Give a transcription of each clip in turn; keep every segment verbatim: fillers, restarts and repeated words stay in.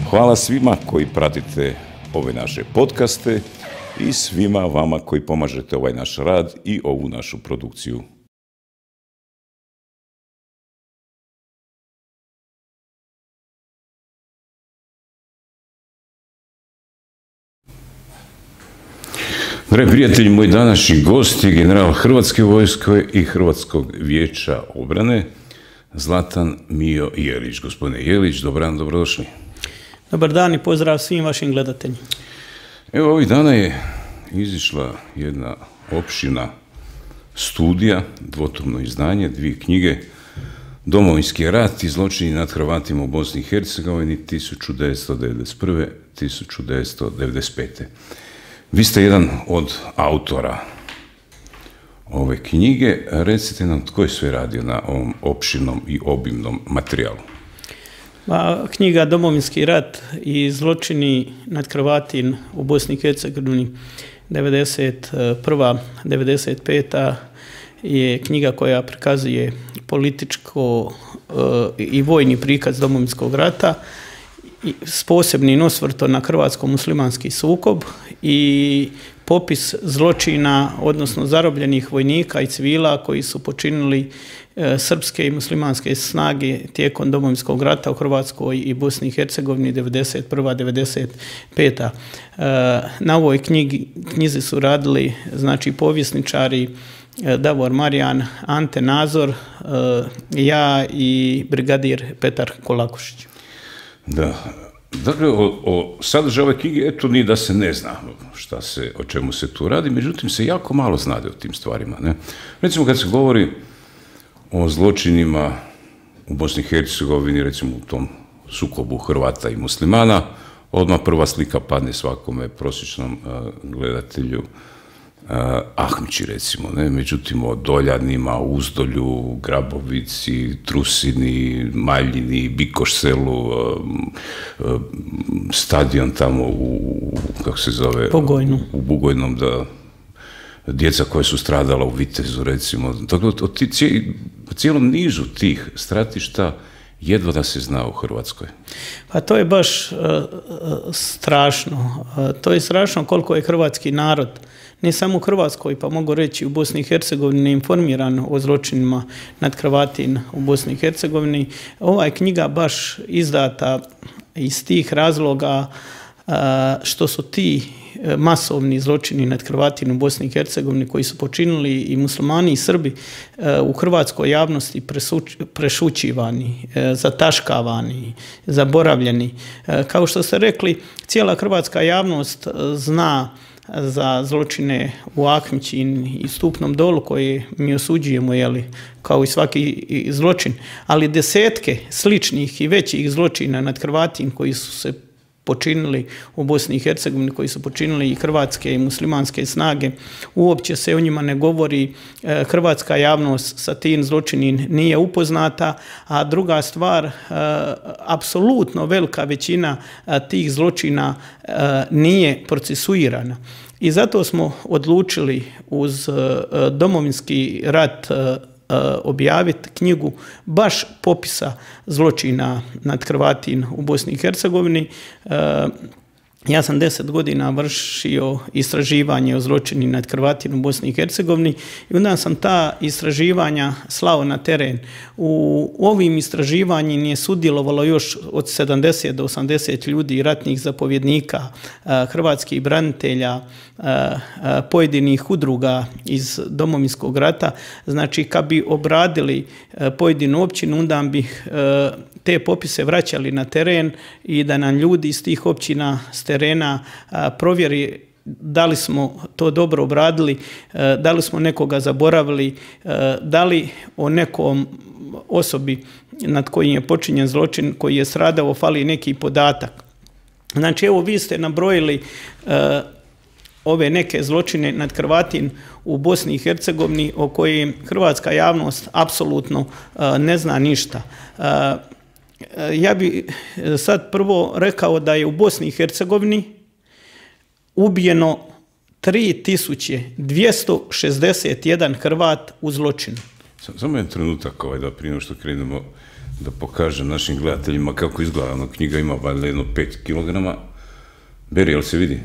Hvala svima koji pratite ove naše podcaste i svima vama koji pomažete ovaj naš rad i ovu našu produkciju. Dragi prijatelji, moj današnji gost je general Hrvatske vojske i Hrvatskog vijeća obrane, Zlatan Mijo Jelić. Gospodine Jelić, dobar dan, dobrodošli. Dobar dan i pozdrav svim vašim gledateljima. Evo, ovih dana je izišla jedna opširna studija, dvotomno izdanje, dvije knjige, Domovinski rat i zločini nad Hrvatima u Bosni i Hercegovini tisuću devetsto devedeset prve do tisuću devetsto devedeset pete. Vi ste jedan od autora ove knjige. Recite nam tko je sve radio na ovom opširnom i obimnom materijalu. Pa, knjiga Domovinski rat i zločini nad Hrvatima u Bosni i Hercegovini devedeset prva do devedeset peta je knjiga koja prikazuje političko i vojni prikaz Domovinskog rata s posebnim osvrtom na hrvatsko-muslimanski sukob i popis zločina, odnosno zarobljenih vojnika i civila koji su počinili srpske i muslimanske snage tijekom Domovinskog rata u Hrvatskoj i Bosni i Hercegovini devedeset prva do devedeset peta. Na ovoj knjigi, knjizi su radili znači povjesničari Davor Marijan, Ante Nazor, ja i brigadir Petar Kolakušić. Da, dakle, o, o sadržaju ove knjige, eto, ni da se ne zna šta se, o čemu se tu radi, međutim se jako malo znade o tim stvarima. Ne? Recimo, kad se govori o zločinima u Bosni i Hercegovini, recimo u tom sukobu Hrvata i muslimana, odmah prva slika padne svakome prosječnom uh, gledatelju uh, Ahmići, recimo, ne? Međutim, o Doljanima, Uzdolju, Grabovici, Trusini, Maljini, Bikoš selu, uh, uh, stadion tamo u, kako se zove? Bugojnu. U Bugojnom, da, djeca koja su stradala u Vitezu, recimo. Dakle, o cijelom nizu tih stratišta jedva da se zna u Hrvatskoj. Pa to je baš uh, strašno. Uh, to je strašno koliko je hrvatski narod, ne samo u Hrvatskoj, pa mogu reći u Bosni i Hercegovini, informiran o zločinima nad Hrvatima u Bosni i Hercegovini. Ova je knjiga baš izdata iz tih razloga uh, što su ti masovni zločini nad Hrvatima u Bosni i Hercegovini koji su počinili i muslimani i Srbi u hrvatskoj javnosti prešućivani, zataškavani, zaboravljeni. Kao što ste rekli, cijela hrvatska javnost zna za zločine u Ahmići i Stupnom dolu koje mi osuđujemo, jeli, kao i svaki zločin, ali desetke sličnih i većih zločina nad Hrvatima koji su se počinili u Bosni i Hercegovini, koji su počinili i hrvatske i muslimanske snage. Uopće se o njima ne govori, hrvatska javnost sa tim zločinim nije upoznata, a druga stvar, apsolutno velika većina tih zločina nije procesuirana. I zato smo odlučili uz Domovinski rat objaviti knjigu baš popisa zločina nad Hrvatima u Bosni i Hercegovini. Ja sam deset godina vršio istraživanje o zločini nad Hrvatima u Bosni i Hercegovini i onda sam ta istraživanja slao na teren. U ovim istraživanjima je sudjelovalo još od sedamdeset do osamdeset ljudi, ratnih zapovjednika, hrvatskih branitelja, pojedinih udruga iz Domovinskog rata. Znači, kad bi obradili pojedinu općinu, onda bi te popise vraćali na teren i da nam ljudi iz tih općina s terena provjeri da li smo to dobro obradili, da li smo nekoga zaboravili, da li o nekom osobi nad kojim je počinjen zločin, koji je stradao, fali neki podatak. Znači, evo, vi ste nabrojili ove neke zločine nad Hrvatima u Bosni i Hercegovini o kojim hrvatska javnost apsolutno ne zna ništa. Ja bi sad prvo rekao da je u Bosni i Hercegovini ubijeno tri tisuće dvjesto šezdeset jedan Hrvat u zločinu. Samo jedan trenutak, ovaj, da prije što krenemo da pokažem našim gledateljima kako izgleda. Ono, knjiga ima valjda jedno pet kilograma. Beri, jel se vidi?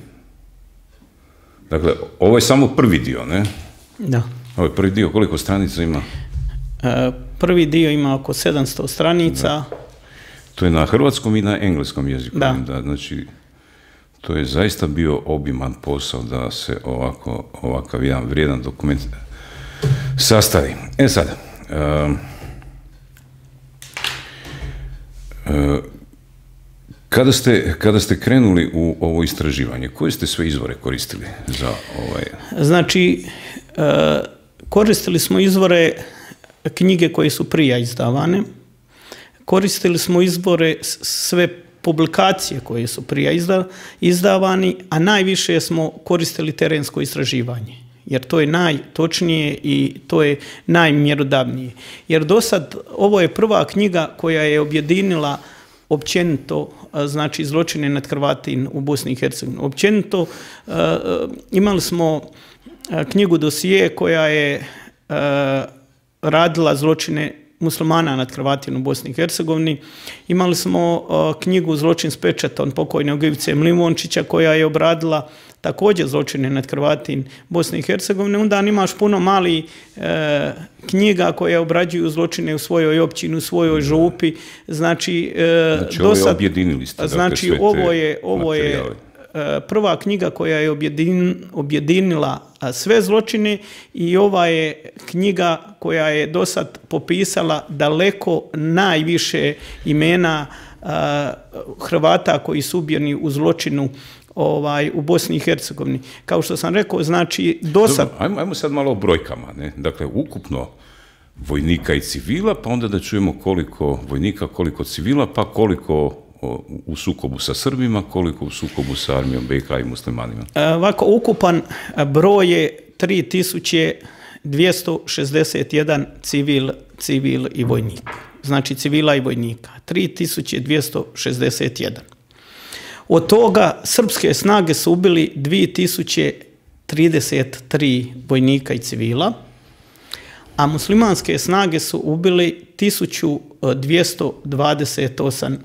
Dakle, ovo je samo prvi dio, ne? Da. Ovo je prvi dio, koliko stranica ima? E, prvi dio ima oko sedamsto stranica. Da. To je na hrvatskom i na engleskom jeziku. Da. Da, znači, to je zaista bio obiman posao da se ovako, ovakav jedan vrijedan dokument sastavi. E sad, um, uh, kada, ste, kada ste krenuli u ovo istraživanje, koje ste sve izvore koristili za ovaj... Znači, uh, koristili smo izvore knjige koje su prije izdavane, koristili smo izvore sve publikacije koje su prije izdavani, a najviše smo koristili terensko istraživanje, jer to je najtočnije i to je najmjerodavnije. Jer do sad ovo je prva knjiga koja je objedinila općenito, znači zločine nad Hrvatima u Bosni i Hercegovini. Općenito imali smo knjigu dosije koja je radila zločine muslimana nad Hrvatima u Bosni i Hercegovini. Imali smo uh, knjigu Zločin s pečatom pokojnog Ivice Mlivončića koja je obradila također zločine nad Hrvatima Bosne i Hercegovine. Onda imaš puno malih uh, knjiga koje obrađuju zločine u svojoj općini, u svojoj župi. Znači, uh, znači ovo je objedinili ste. Znači, dakle, ovo je, ovo je prva knjiga koja je objedin, objedinila sve zločine i ova je knjiga koja je do sad popisala daleko najviše imena a, Hrvata koji su ubijeni u zločinu ovaj, u Bosni i Hercegovini. Kao što sam rekao, znači do sad... Dobro, ajmo, ajmo sad malo o brojkama. Ne? Dakle, ukupno vojnika i civila, pa onda da čujemo koliko vojnika, koliko civila, pa koliko u sukobu sa Srbima, koliko u sukobu sa armijom B i H i muslimanima? Ovako, ukupan broj je tri tisuće dvjesto šezdeset jedan civil, civil i vojnik. Znači civila i vojnika. tri tisuće dvjesto šezdeset jedan. Od toga srpske snage su ubili dvije tisuće trideset tri vojnika i civila, a muslimanske snage su ubili tisuću dvjesto dvadeset osam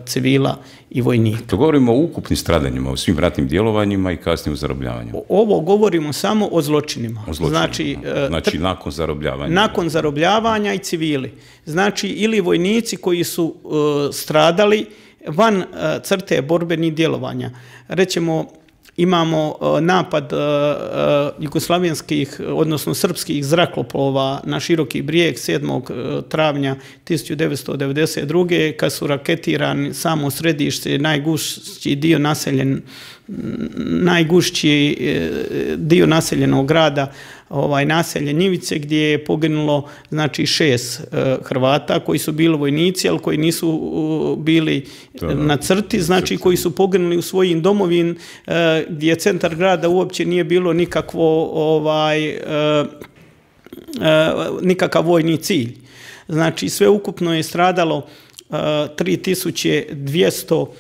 civila i vojnika. To govorimo o ukupnim stradanjima, o svim ratnim djelovanjima i kasnije o zarobljavanju. Ovo govorimo samo o zločinima. O zločinima. Znači, znači nakon zarobljavanja. Nakon zarobljavanja i civili. Znači, ili vojnici koji su uh, stradali van uh, crte borbenih djelovanja. Rećemo, imamo uh, napad uh, uh, jugoslavenskih, odnosno srpskih zrakoplova na Široki brijeg sedmog travnja tisuću devetsto devedeset druge kad su raketirani samo središte, najgušći dio naseljen, najgušći dio naseljenog grada, ovaj naselje Njivice, gdje je poginulo znači šest uh, Hrvata koji su bili vojnici, ali koji nisu uh, bili da, na crti, znači koji su poginuli u svojim domovin, uh, gdje centar grada uopće nije bilo nikakvo ovaj uh, uh, nikakav vojni cilj. Znači sve ukupno je stradalo uh, tri tisuće dvjesto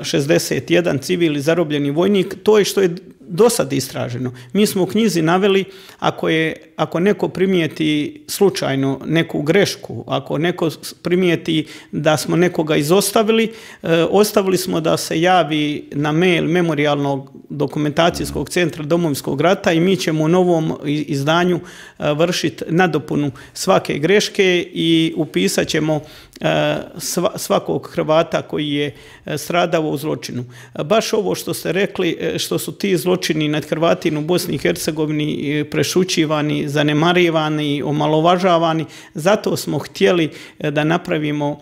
šezdeset jedan civil i zarobljeni vojnik. To je što je do sad istraženo. Mi smo u knjizi naveli, ako, je, ako neko primijeti slučajno neku grešku, ako neko primijeti da smo nekoga izostavili, e, ostavili smo da se javi na mail Memorijalnog dokumentacijskog centra Domovinskog rata i mi ćemo u novom izdanju e, vršiti nadopunu svake greške i upisat ćemo e, sva, svakog Hrvata koji je stradao u zločinu. Baš ovo što ste rekli, što su ti zločini nad Hrvatima u Bosni i Hercegovini prešućivani, zanemarivani, omalovažavani, zato smo htjeli da napravimo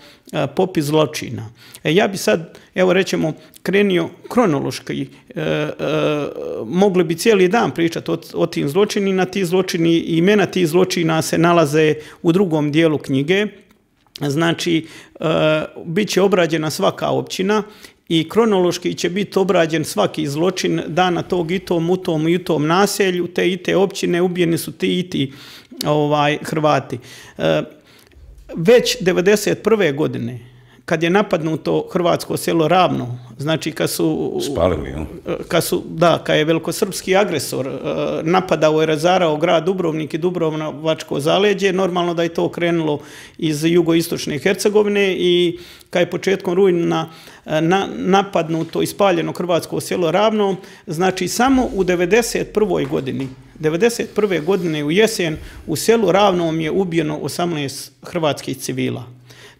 popis zločina. Ja bi sad, evo rećemo, krenio kronološki, e, e, mogli bi cijeli dan pričati o, o tim zločinima, ti zločini i imena tih zločina se nalaze u drugom dijelu knjige. Znači, e, bit će obrađena svaka općina i kronološki će biti obrađen svaki zločin dana tog i tom, u tom i u tom naselju, te i te općine, ubijeni su ti i ti ovaj, Hrvati. E, već devedeset prve godine, kad je napadnuto hrvatsko selo Ravno, znači kad su... Spalili, jel? Kad su, da, kad je velikosrpski agresor napadao i razarao grad Dubrovnik i Dubrovačko zaleđe, normalno da je to krenulo iz jugoistočne Hercegovine i kad je početkom rujna na, napadnuto i spaljeno hrvatsko selo Ravno, znači samo u devedeset prvoj godini, devedeset prve godine u jesen u selu Ravnom je ubijeno osamnaest hrvatskih civila.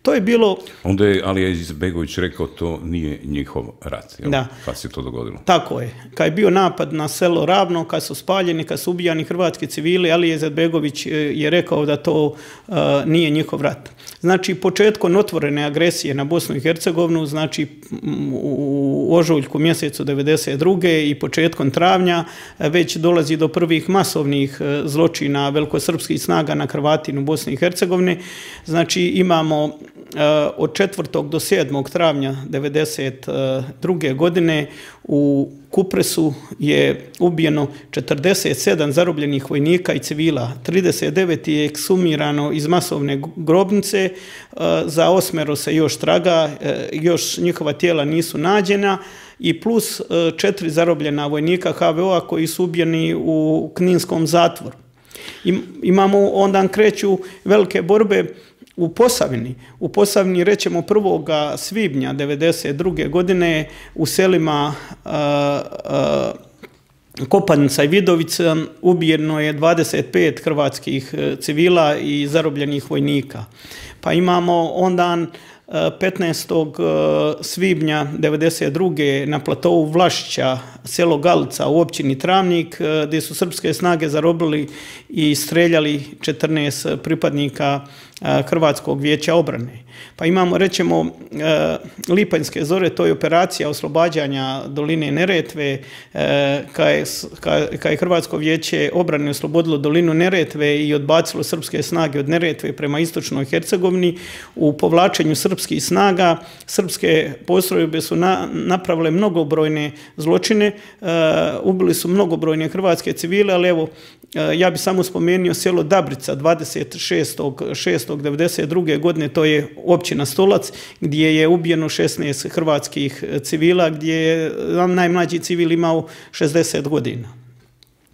To je bilo... Onda je Alija Izetbegović rekao to nije njihov rat. Jel? Da. Kad se to dogodilo? Tako je. Kad je bio napad na selo Ravno, kad su spaljeni, kad su ubijani hrvatski civili, Alija Izetbegović je rekao da to uh, nije njihov rat. Znači, početkom otvorene agresije na Bosnu i Hercegovinu, znači u ožujku mjesecu devedeset druge i početkom travnja već dolazi do prvih masovnih zločina velikosrpskih snaga na Hrvatima u Bosni i Hercegovini. Znači, imamo od četvrtog do sedmog travnja devedeset druge godine u Kupresu je ubijeno četrdeset sedam zarobljenih vojnika i civila, trideset devet je eksumirano iz masovne grobnice, za osmero se još traga, još njihova tijela nisu nađena i plus četiri zarobljena vojnika ha ve o-a koji su ubijeni u Kninskom zatvoru. Imamo, onda kreću velike borbe u Posavini. U Posavini, rećemo prvog svibnja devedeset druge godine u selima uh, uh, Kopanica i Vidovica ubijeno je dvadeset pet hrvatskih civila i zarobljenih vojnika. Pa imamo onda petnaestog svibnja devedeset druge na platovu Vlašića, selo Galica u općini Travnik, gdje su srpske snage zarobili i streljali četrnaest pripadnika Hrvatskog vijeća obrane. Pa imamo, rećemo, Lipanjske zore, to je operacija oslobađanja doline Neretve, kad je Hrvatsko vijeće obrane oslobodilo dolinu Neretve i odbacilo srpske snage od Neretve prema istočnoj Hercegovini. U povlačenju srpskih snaga, srpske postrojbe su na, napravile mnogobrojne zločine, ubili su mnogobrojne hrvatske civile, ali evo, ja bih samo spomenuo selo Dabrica dvadeset šestog šestog devedeset druge godine, to je općina Stolac, gdje je ubijeno šesnaest hrvatskih civila, gdje je najmlađi civil imao šezdeset godina.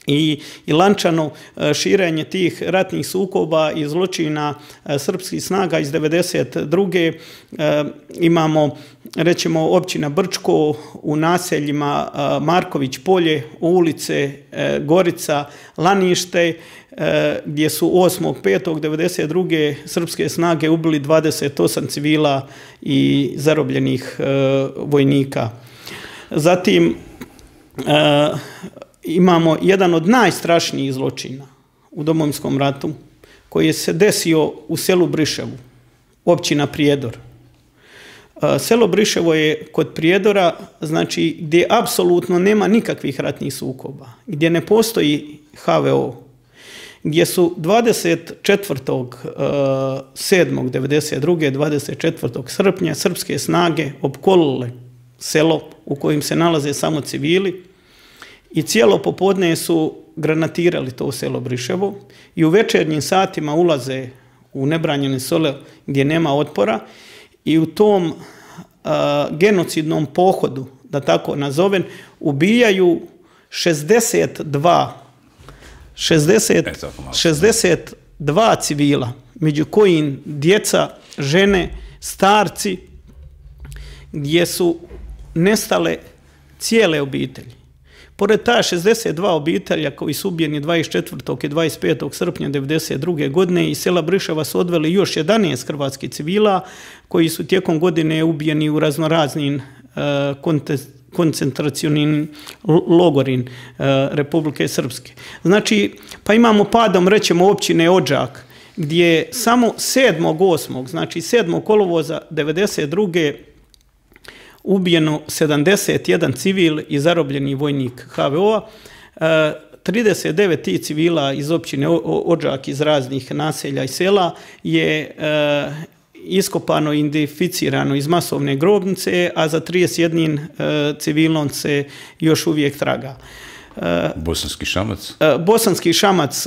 I, i lančano širenje tih ratnih sukoba i zločina srpskih snaga iz devedeset druge imamo, rećemo, općina Brčko u naseljima Marković polje, ulice Gorica, Lanište, gdje su osmog petog devedeset druge srpske snage ubili dvadeset osam civila i zarobljenih vojnika. Zatim imamo jedan od najstrašnijih zločina u Domovinskom ratu koji je se desio u selu Briševu, općina Prijedor. Selo Briševo je kod Prijedora, znači gdje apsolutno nema nikakvih ratnih sukoba, gdje ne postoji ha ve o, gdje su dvadeset četvrtog sedmog devedeset druge dvadeset četvrtog srpnja srpske snage opkolile selo u kojem se nalaze samo civili i cijelo popodne su granatirali to selo Briševo i u večernjim satima ulaze u nebranjene selo gdje nema otpora i u tom uh, genocidnom pohodu, da tako nazovem, ubijaju šezdeset dva, šezdeset, šezdeset dva civila, među kojim djeca, žene, starci, gdje su nestale cijele obitelji. Pored ta šezdeset dva obitelja koji su ubijeni dvadeset četvrtog i dvadeset petog srpnja devedeset druge godine iz sela Briševa su odveli još jedanaest hrvatskih civila koji su tijekom godine ubijeni u raznoraznim uh, koncentracionim logorin uh, Republike Srpske. Znači, pa imamo padom, rećemo, općine Odžak, gdje samo sedmog osmog, znači sedmog kolovoza devedeset druge ubijeno sedamdeset jedan civil i zarobljeni vojnik ha ve o-a, trideset devet tih civila iz općine Odžak iz raznih naselja i sela je iskopano i identificirano iz masovne grobnice, a za trideset jedan civilom se još uvijek traga. Bosanski Šamac? Bosanski Šamac,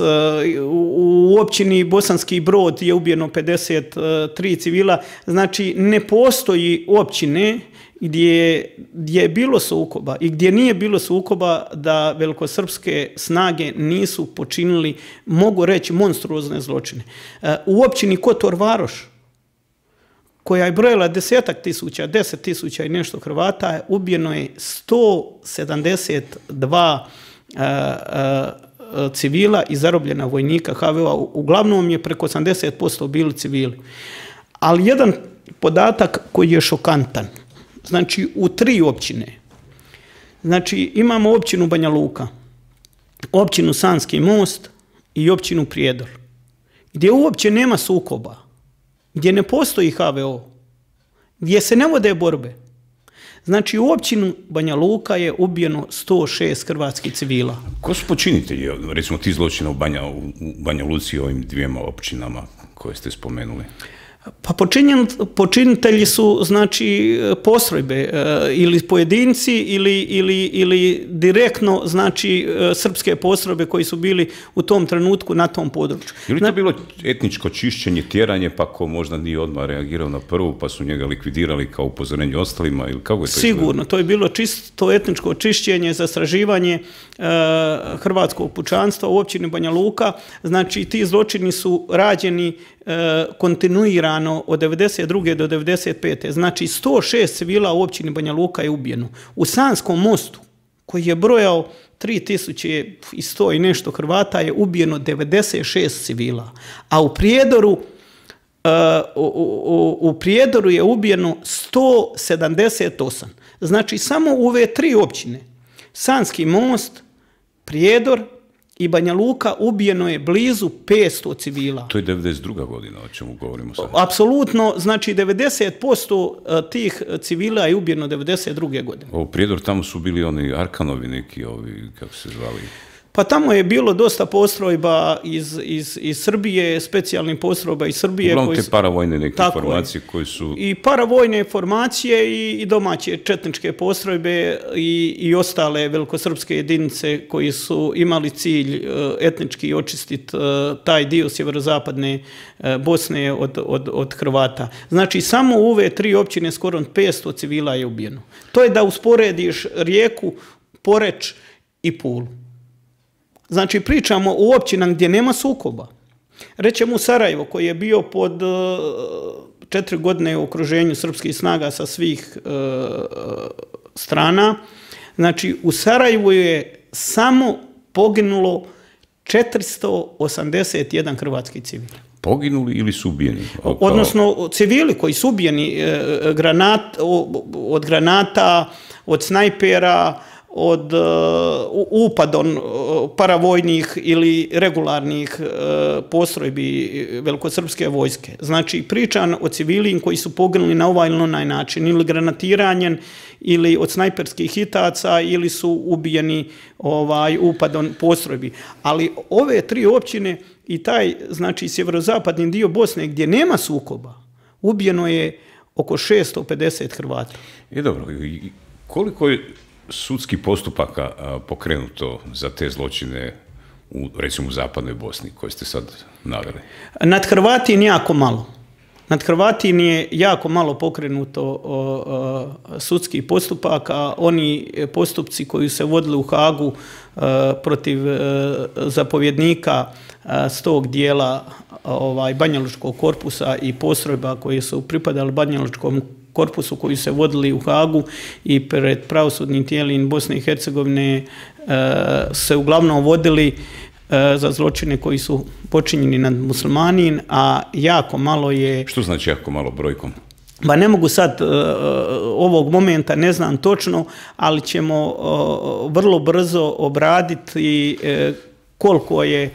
u općini Bosanski Brod je ubijeno pedeset tri civila. Znači, ne postoji općine gdje, gdje je bilo sukoba i gdje nije bilo sukoba da velikosrpske snage nisu počinili, mogu reći, monstruozne zločine. U općini Kotor Varoš, koja je brojila desetak tisuća, deset tisuća i nešto Hrvata, ubijeno je sto sedamdeset dva a, a, civila i zarobljena vojnika ha ve o-a. Uglavnom je preko osamdeset posto bili civili. Ali jedan podatak koji je šokantan. Znači, u tri općine. Znači, imamo općinu Banja Luka, općinu Sanski Most i općinu Prijedor, gdje uopće nema sukoba, gdje ne postoji ha ve o, gdje se ne vode borbe. Znači, u općinu Banja Luka je ubijeno sto šest hrvatskih civila. Ko su počinitelji, recimo, ti zločina u Banja, u Banja Luci i ovim dvijema općinama koje ste spomenuli? Pa počinitelji su, znači, postrojbe ili pojedinci ili, ili, ili direktno, znači, srpske postrojbe koji su bili u tom trenutku na tom području. Je li to bilo etničko čišćenje, tjeranje, pa ko možda nije odmah reagirao na prvu, pa su njega likvidirali kao upozorenje ostalima, ili kako je to? Sigurno, to je bilo čisto etničko čišćenje, zastraživanje uh, hrvatskog pučanstva u općini Banja Luka. Znači, ti zločini su rađeni kontinuirano od devedeset druge do devedeset pete. Znači, sto šest civila u općini Banja Luka je ubijeno. U Sanskom Mostu, koji je brojao tri tisuće sto i nešto Hrvata, je ubijeno devedeset šest civila. A u Prijedoru, uh, u, u, u Prijedoru je ubijeno sto sedamdeset osam. Znači, samo u ove tri općine, Sanski Most, Prijedor i Banja Luka, ubijeno je blizu petsto civila. To je devedeset druga godina, o čemu govorimo sad. Apsolutno, znači devedeset posto tih civila je ubijeno devedeset druge godine. U Prijedor tamo su bili oni Arkanovi neki, ovi, kako se zvali? Pa tamo je bilo dosta postrojba iz, iz, iz Srbije, specijalnih postrojba iz Srbije. Uglavnom te paravojne neke formacije koje su... I paravojne formacije i, i domaće četničke postrojbe i, i ostale velikosrpske jedinice koji su imali cilj uh, etnički očistiti uh, taj dio sjeverozapadne uh, Bosne od, od, od Hrvata. Znači, samo u ove tri općine skoro petsto civila je ubijeno. To je da usporediš Rijeku, Poreč i Pulu. Znači, pričamo u općinama gdje nema sukoba. Rećemo u Sarajevo, koji je bio pod uh, četiri godine u okruženju srpskih snaga sa svih uh, strana. Znači, u Sarajevu je samo poginulo četiristo osamdeset jedan hrvatski civil. Poginuli ili su ubijeni? Kao... Odnosno, civili koji su ubijeni uh, granat, od granata, od snajpera, od uh, upadon uh, paravojnih ili regularnih uh, postrojbi velikosrpske vojske. Znači, pričam o civilima koji su poginuli na ovaj ili onaj način, ili granatiranjem, ili od snajperskih hitaca, ili su ubijeni ovaj, upadon postrojbi. Ali ove tri općine i taj, znači, sjeverozapadni dio Bosne gdje nema sukoba, ubijeno je oko šesto pedeset Hrvata. I dobro, koliko je sudskih postupaka pokrenuto za te zločine u, recimo, u zapadnoj Bosni, koje ste sad naveli? Nad Hrvatin jako malo. Nad Hrvatin je jako malo pokrenuto o, o, sudskih postupaka. Oni postupci koji se vodili u Hagu a, protiv a, zapovjednika a, s tog dijela ovaj, Banjalučkog korpusa i postrojba koje su pripadali Banjalučkom korpusu koji se vodili u Hagu i pred pravosudnim tijelima Bosne i Hercegovine e, se uglavnom vodili e, za zločine koji su počinjeni nad muslimanin, a jako malo je... Što znači jako malo brojkom? Ba ne mogu sad e, ovog momenta, ne znam točno, ali ćemo e, vrlo brzo obraditi e, koliko je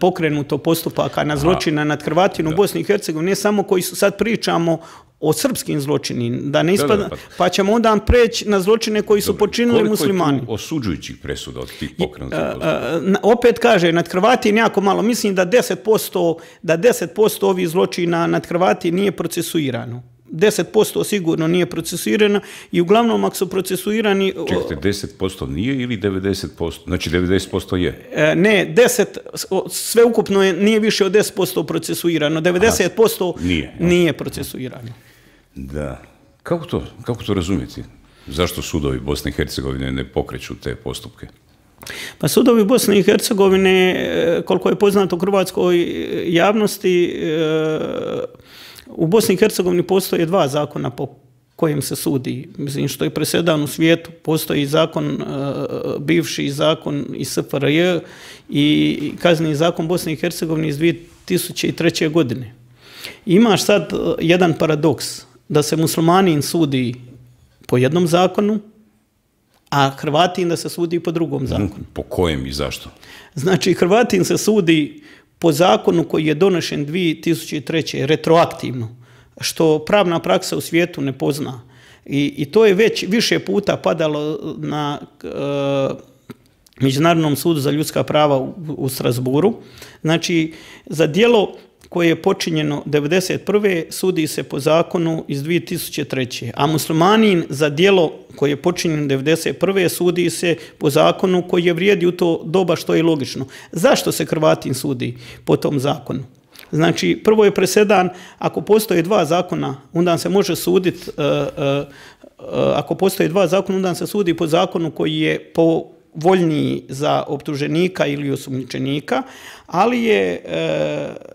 pokrenuto postupaka na zločina nad Hrvatima u Bosni i Hercegovini, ne samo koji su, sad pričamo o srpskim zločinima, da ne ispada, pa, pa ćemo onda preći na zločine koji su počinili koliko muslimani. Koliko je tu osuđujućih presuda od tih pokrenutih postupaka? Opet kaže, nad Hrvatima jako malo, mislim da deset posto, da deset posto ovih zločina nad Hrvatima nije procesuirano. deset posto sigurno nije procesuirana i uglavnom ako su procesuirani... Čekajte, deset posto nije ili devedeset posto? Znači devedeset posto je? Ne, deset, sve ukupno je, nije više od deset posto procesuirano, devedeset posto nije, nije procesuirano. Da. Kako to, kako to razumjeti? Zašto sudovi Bosne i Hercegovine ne pokreću te postupke? Pa sudovi Bosne i Hercegovine, koliko je poznato hrvatskoj javnosti, u Bosni i Hercegovini postoje dva zakona po kojim se sudi. Mislim, što je presedan u svijetu, postoji zakon, bivši zakon iz S F R J i kazneni zakon Bosne i Hercegovine iz dvije tisuće treće. godine. Imaš sad jedan paradoks, da se muslimanin sudi po jednom zakonu, a Hrvatin da se sudi po drugom zakonu. Po kojem i zašto? Znači, Hrvatin se sudi po zakonu koji je donešen dvije tisuće treće. retroaktivno, što pravna praksa u svijetu ne pozna. I, i to je već više puta padalo na e, Međunarodnom sudu za ljudska prava u, u Strasburu. Znači, za djelo koje je počinjeno devedeset prve. sudi se po zakonu iz dvije tisuće treće. A muslimanin za djelo koje je počinjeno devedeset prve. sudi se po zakonu koji je vrijedi u to doba, što je logično. Zašto se Hrvatin sudi po tom zakonu? Znači, prvo je presedan, ako postoje dva zakona, onda se može suditi, uh, uh, uh, ako postoje dva zakona, onda se sudi po zakonu koji je povoljniji za optuženika ili osumnjičenika, ali je uh,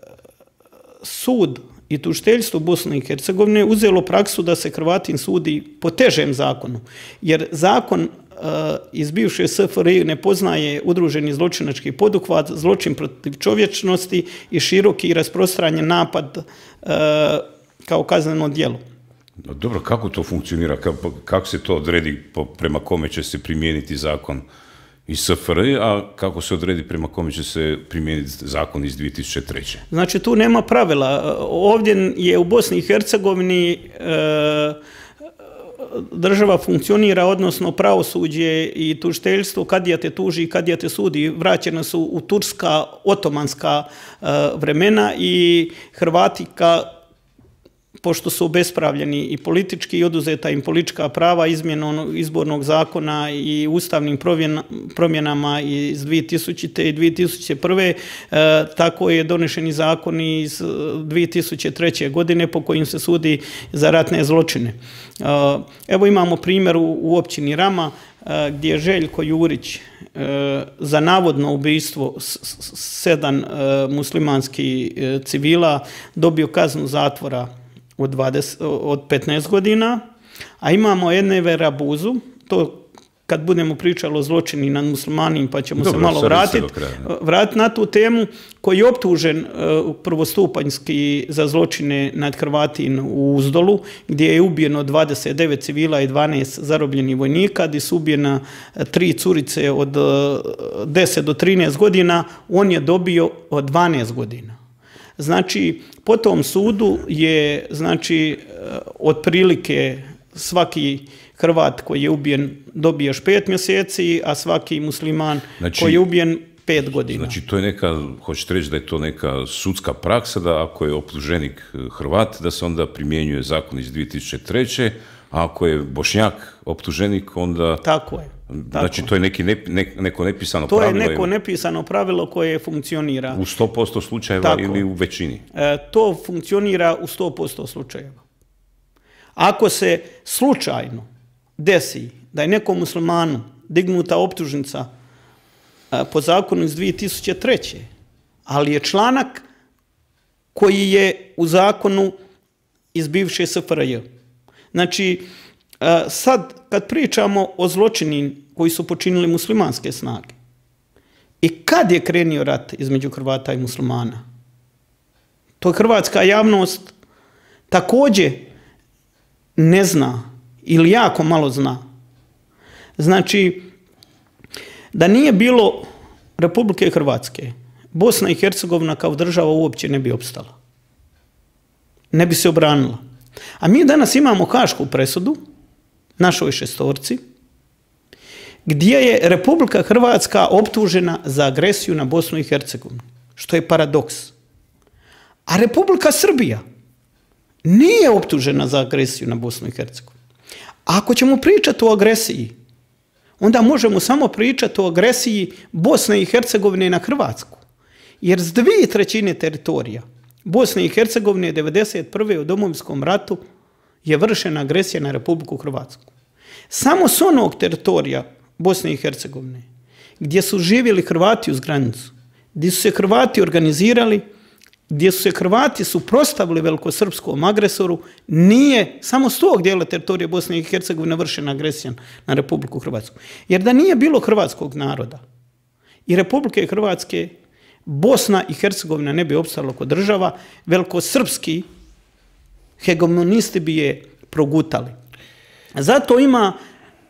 sud i tužiteljstvo Bosne i Hercegovine uzelo praksu da se Hrvatin sudi po težem zakonu, jer zakon uh, iz bivše S F R J ne poznaje udruženi zločinački poduhvat, zločin protiv čovječnosti i široki i rasprostranjen napad uh, kao kazneno djelo. Dobro, kako to funkcionira? Kako, kako se to odredi, prema kome će se primijeniti zakon iz S F R J, a kako se odredi prema kome će se primijeniti zakon iz dvije tisuće treće. Znači, tu nema pravila. Ovdje je u Bosni i Hercegovini e, država funkcionira, odnosno pravosuđe i tužiteljstvo, kadija te tuži i kadija te sudi. Vraćena su u turska, otomanska e, vremena i Hrvati ka pošto su obespravljeni i politički i oduzeta im politička prava izmjenom izbornog zakona i ustavnim promjenama iz dvije tisućite. i dvije tisuće prve. E, tako je donešeni zakon iz dvije tisuće treće. godine po kojim se sudi za ratne zločine. E, evo imamo primjer u, u općini Rama e, gdje je Željko Jurić e, za navodno ubojstvo sedam e, muslimanskih e, civila dobio kaznu zatvora Od, dvadeset, od petnaest godina, a imamo Envera Rabuzu, to kad budemo pričali o zločini nad muslimanima, pa ćemo Dobro, se malo vratiti vrat na tu temu, koji je optužen uh, prvostupanjski za zločine nad Hrvatin u Uzdolu, gdje je ubijeno dvadeset devet civila i dvanaest zarobljenih vojnika, gdje su ubijena tri curice od uh, deset do trinaest godina, on je dobio od dvanaest godina. Znači, po tom sudu je, znači, otprilike svaki Hrvat koji je ubijen dobije još pet mjeseci, a svaki musliman znači, koji je ubijen pet godina. Znači, to je neka, hoćete reći da je to neka sudska praksa, da ako je optuženik Hrvat, da se onda primjenjuje zakon iz dvije tisuće treće. a ako je Bošnjak optuženik, onda... Tako je. Znači, to je neki ne, ne, neko nepisano to pravilo? To je neko nepisano pravilo koje funkcionira. U sto posto slučajeva Tako. ili u većini? E, to funkcionira u sto posto slučajeva. Ako se slučajno desi da je nekom muslimanu dignuta optužnica e, po zakonu iz dvije tisuće treće. ali je članak koji je u zakonu iz bivše S F R J. Znači, e, sad kad pričamo o zločini koji su počinili muslimanske snage i kad je krenio rat između Hrvata i muslimana, to hrvatska javnost također ne zna ili jako malo zna. Znači, da nije bilo Republike Hrvatske, Bosna i Hercegovina kao država uopće ne bi opstala. Ne bi se obranila. A mi danas imamo hašku presudu, našoj šestorci, gdje je Republika Hrvatska optužena za agresiju na Bosnu i Hercegovinu, što je paradoks. A Republika Srbija nije optužena za agresiju na Bosnu i Hercegovinu. Ako ćemo pričati o agresiji, onda možemo samo pričati o agresiji Bosne i Hercegovine na Hrvatsku. Jer s dvije trećine teritorija Bosne i Hercegovine devedeset prve u Domovinskom ratu je vršena agresija na Republiku Hrvatsku. Samo s onog teritorija Bosne i Hercegovine gdje su živjeli Hrvati uz granicu, gdje su se Hrvati organizirali, gdje su se Hrvati suprotstavili velikosrpskom agresoru, nije samo s tog dijela teritorije Bosne i Hercegovine vršena agresija na Republiku Hrvatsku. Jer da nije bilo hrvatskog naroda i Republike Hrvatske, Bosna i Hercegovina ne bi opstala kao država, velikosrpski hegemonisti bi je progutali. Zato ima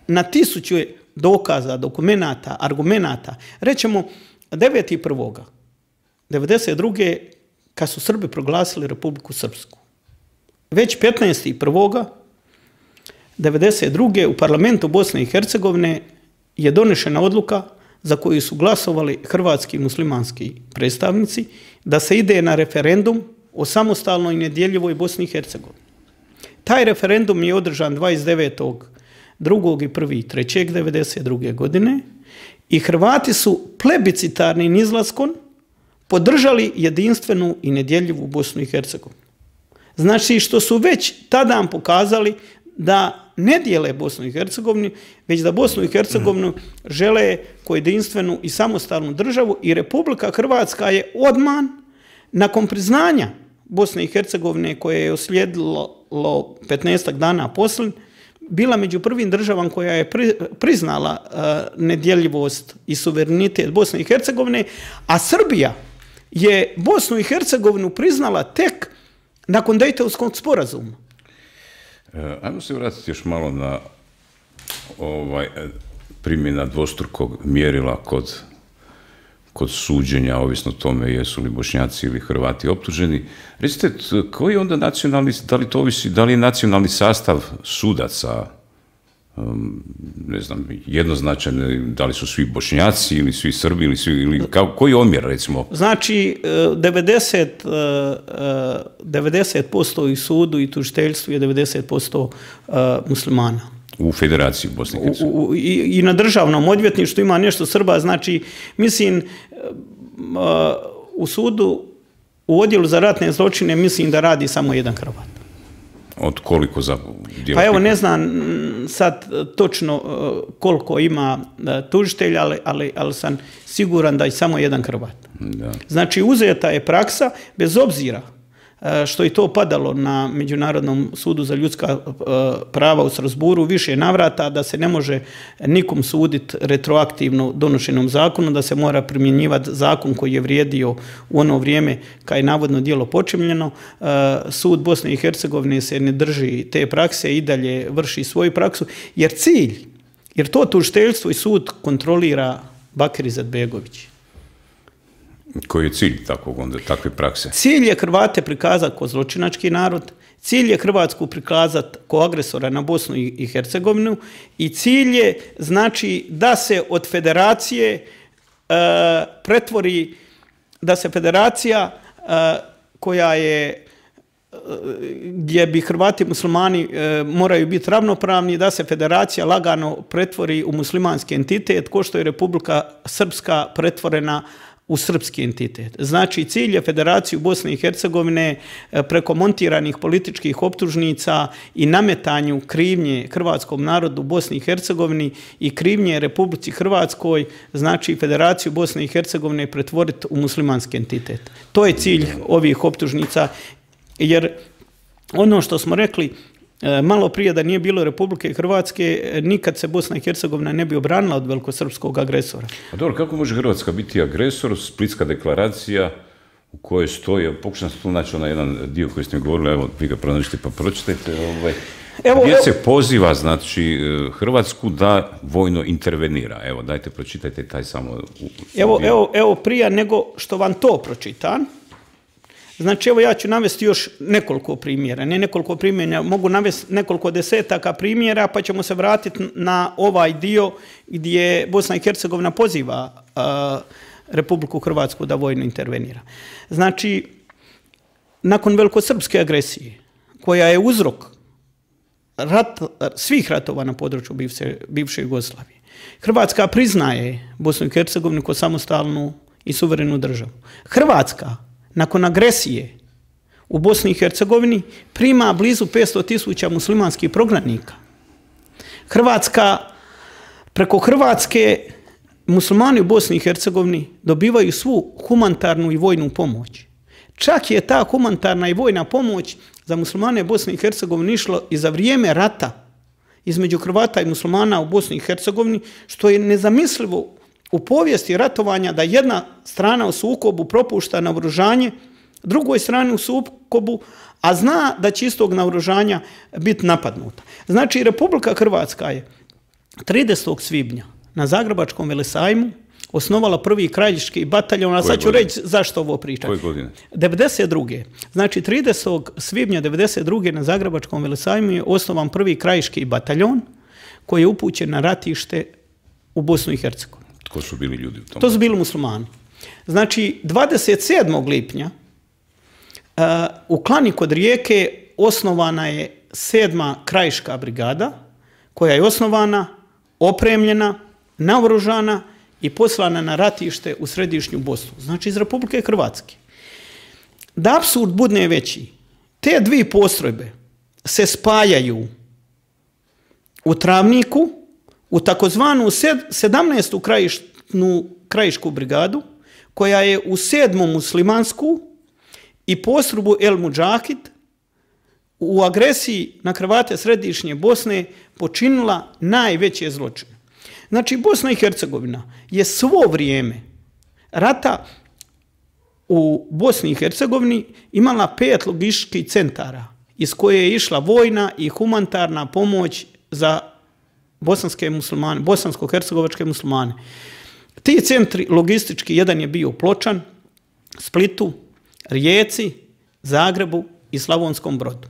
na tisuću dokaza, dokumenata, argumenata. Rećemo, devetog prvog devedeset druge kad su Srbi proglasili Republiku Srpsku. Već petnaestog prvog devedeset druge u parlamentu Bosne i Hercegovine je donešena odluka za koju su glasovali hrvatski muslimanski predstavnici da se ide na referendum o samostalnoj i nedjeljivoj Bosni i Hercegovini. Taj referendum je održan dvadeset devetog drugog i prvog trećeg devedeset druge godine i Hrvati su plebiscitarnim izlaskom podržali jedinstvenu i nedjeljivu Bosnu i Hercegovinu. Znači što su već tada pokazali da ne dijele Bosnu i Hercegovinu, već da Bosnu i Hercegovinu žele kao jedinstvenu i samostalnu državu i Republika Hrvatska je odmah nakon priznanja Bosne i Hercegovine koje je uslijedilo petnaestak dana poslije, bila među prvim državama koja je priznala nedjeljivost i suverenitet Bosne i Hercegovine, a Srbija je Bosnu i Hercegovinu priznala tek nakon Dejtonskog sporazuma. E, ajmo se vratiti još malo na ovaj, primjena dvostrukog mjerila kod, kod suđenja, ovisno tome jesu li Bošnjaci ili Hrvati optuženi. Recite, koji je onda nacionalni, da li to ovisi, da li je nacionalni sastav sudaca, um, ne znam, jednoznačan, da li su svi Bošnjaci ili svi Srbi ili svi, ili kao, koji je omjer, recimo? Znači, devedeset posto i sudu i tužiteljstvu je devedeset posto muslimana. U Federaciji Bosne i Hercegovine. I, I na državnom odvjetništvu ima nešto Srba, znači, mislim, u sudu, u odjelu za ratne zločine, mislim da radi samo jedan Hrvat. Od koliko za djelatnika? Pa evo, ne znam sad točno koliko ima tužitelja, ali, ali, ali sam siguran da je samo jedan Hrvat. Da. Znači, uzeta je praksa, bez obzira što je to padalo na Međunarodnom sudu za ljudska prava u Strasburu više navrata, da se ne može nikom suditi retroaktivno donošenom zakonu, da se mora primjenjivati zakon koji je vrijedio u ono vrijeme kad je navodno djelo počinjeno. Sud Bosne i Hercegovine se ne drži te prakse i dalje vrši svoju praksu, jer cilj, jer to tužiteljstvo i sud kontrolira Bakir Izetbegović. Koji je cilj takvog onda, takve prakse? Cilj je Hrvate prikazati kao zločinački narod, cilj je Hrvatsku prikazati kao agresora na Bosnu i Hercegovinu i cilj je, znači, da se od federacije e, pretvori, da se federacija e, koja je, gdje bi Hrvati i muslimani e, moraju biti ravnopravni, da se federacija lagano pretvori u muslimanski entitet, ko što je Republika Srpska pretvorena u srpski entitet. Znači, cilj je Federaciju Bosne i Hercegovine preko montiranih političkih optužnica i nametanju krivnje hrvatskom narodu Bosni i Hercegovini i krivnje Republici Hrvatskoj, znači Federaciju Bosne i Hercegovine pretvoriti u muslimanski entitet. To je cilj ovih optužnica, jer ono što smo rekli malo prije, da nije bilo Republike Hrvatske, nikad se Bosna i Hercegovina ne bi obranila od velikosrpskog agresora. A dobro, kako može Hrvatska biti agresor? Splitska deklaracija u kojoj stoji, pokušam se tu naći na jedan dio koji ste mi govorili, evo, vi ga pronađite pa pročitajte, ovaj, evo, gdje evo, se poziva, znači, Hrvatsku da vojno intervenira. Evo, dajte, pročitajte taj samo... U, evo, evo, evo, prije nego što vam to pročitam, znači, evo ja ću navesti još nekoliko primjera, ne nekoliko primjera, mogu navesti nekoliko desetaka primjera, pa ćemo se vratiti na ovaj dio gdje Bosna i Hercegovina poziva uh, Republiku Hrvatsku da vojno intervenira. Znači, nakon velikosrpske agresije koja je uzrok rat, svih ratova na području bivše, bivše Jugoslavije. Hrvatska priznaje Bosnu i Hercegovinu kao samostalnu i suverenu državu. Hrvatska, nakon agresije u Bosni i Hercegovini, prima blizu petsto tisuća muslimanskih prognanika. Hrvatska, preko Hrvatske, muslimani u Bosni i Hercegovini dobivaju svu humanitarnu i vojnu pomoć. Čak je ta humanitarna i vojna pomoć za muslimane Bosne i Hercegovine išlo i za vrijeme rata između Hrvata i muslimana u Bosni i Hercegovini, što je nezamislivo u povijesti ratovanja da jedna strana u sukobu propušta naoružanje drugoj strani u sukobu, a zna da će istog naoružanja biti napadnuta. Znači, Republika Hrvatska je tridesetog svibnja na Zagrebačkom velesajmu osnovala prvi krajiški bataljon, a sad ću reći zašto ovo pričam. Koje godine? devedeset druge. Znači, tridesetog svibnja devedeset druge na Zagrebačkom velesajmu je osnovan prvi krajiški bataljon koji je upućen na ratište u Bosnu i Hercegovinu. Tko su bili ljudi u tom? To su bili muslimani. Znači, dvadeset sedmog lipnja uh, u Klani kod Rijeke osnovana je sedma krajiška brigada, koja je osnovana, opremljena, naoružana i poslana na ratište u središnju Bosnu, znači iz Republike Hrvatske. Da apsurd bude veći, te dvije postrojbe se spajaju u Travniku, u takozvanu sedamnaestu krajišnu, krajišku brigadu, koja je u sedmu muslimansku i postrojbu El Mudžahid u agresiji na Hrvate središnje Bosne počinila najveće zločine. Znači, Bosna i Hercegovina je svo vrijeme rata u Bosni i Hercegovini imala pet logističkih centara iz koje je išla vojna i humanitarna pomoć za bosanske muslimane, bosansko-hercegovačke muslimane. Ti centri logistički, jedan je bio u Pločan, Splitu, Rijeci, Zagrebu i Slavonskom Brodu.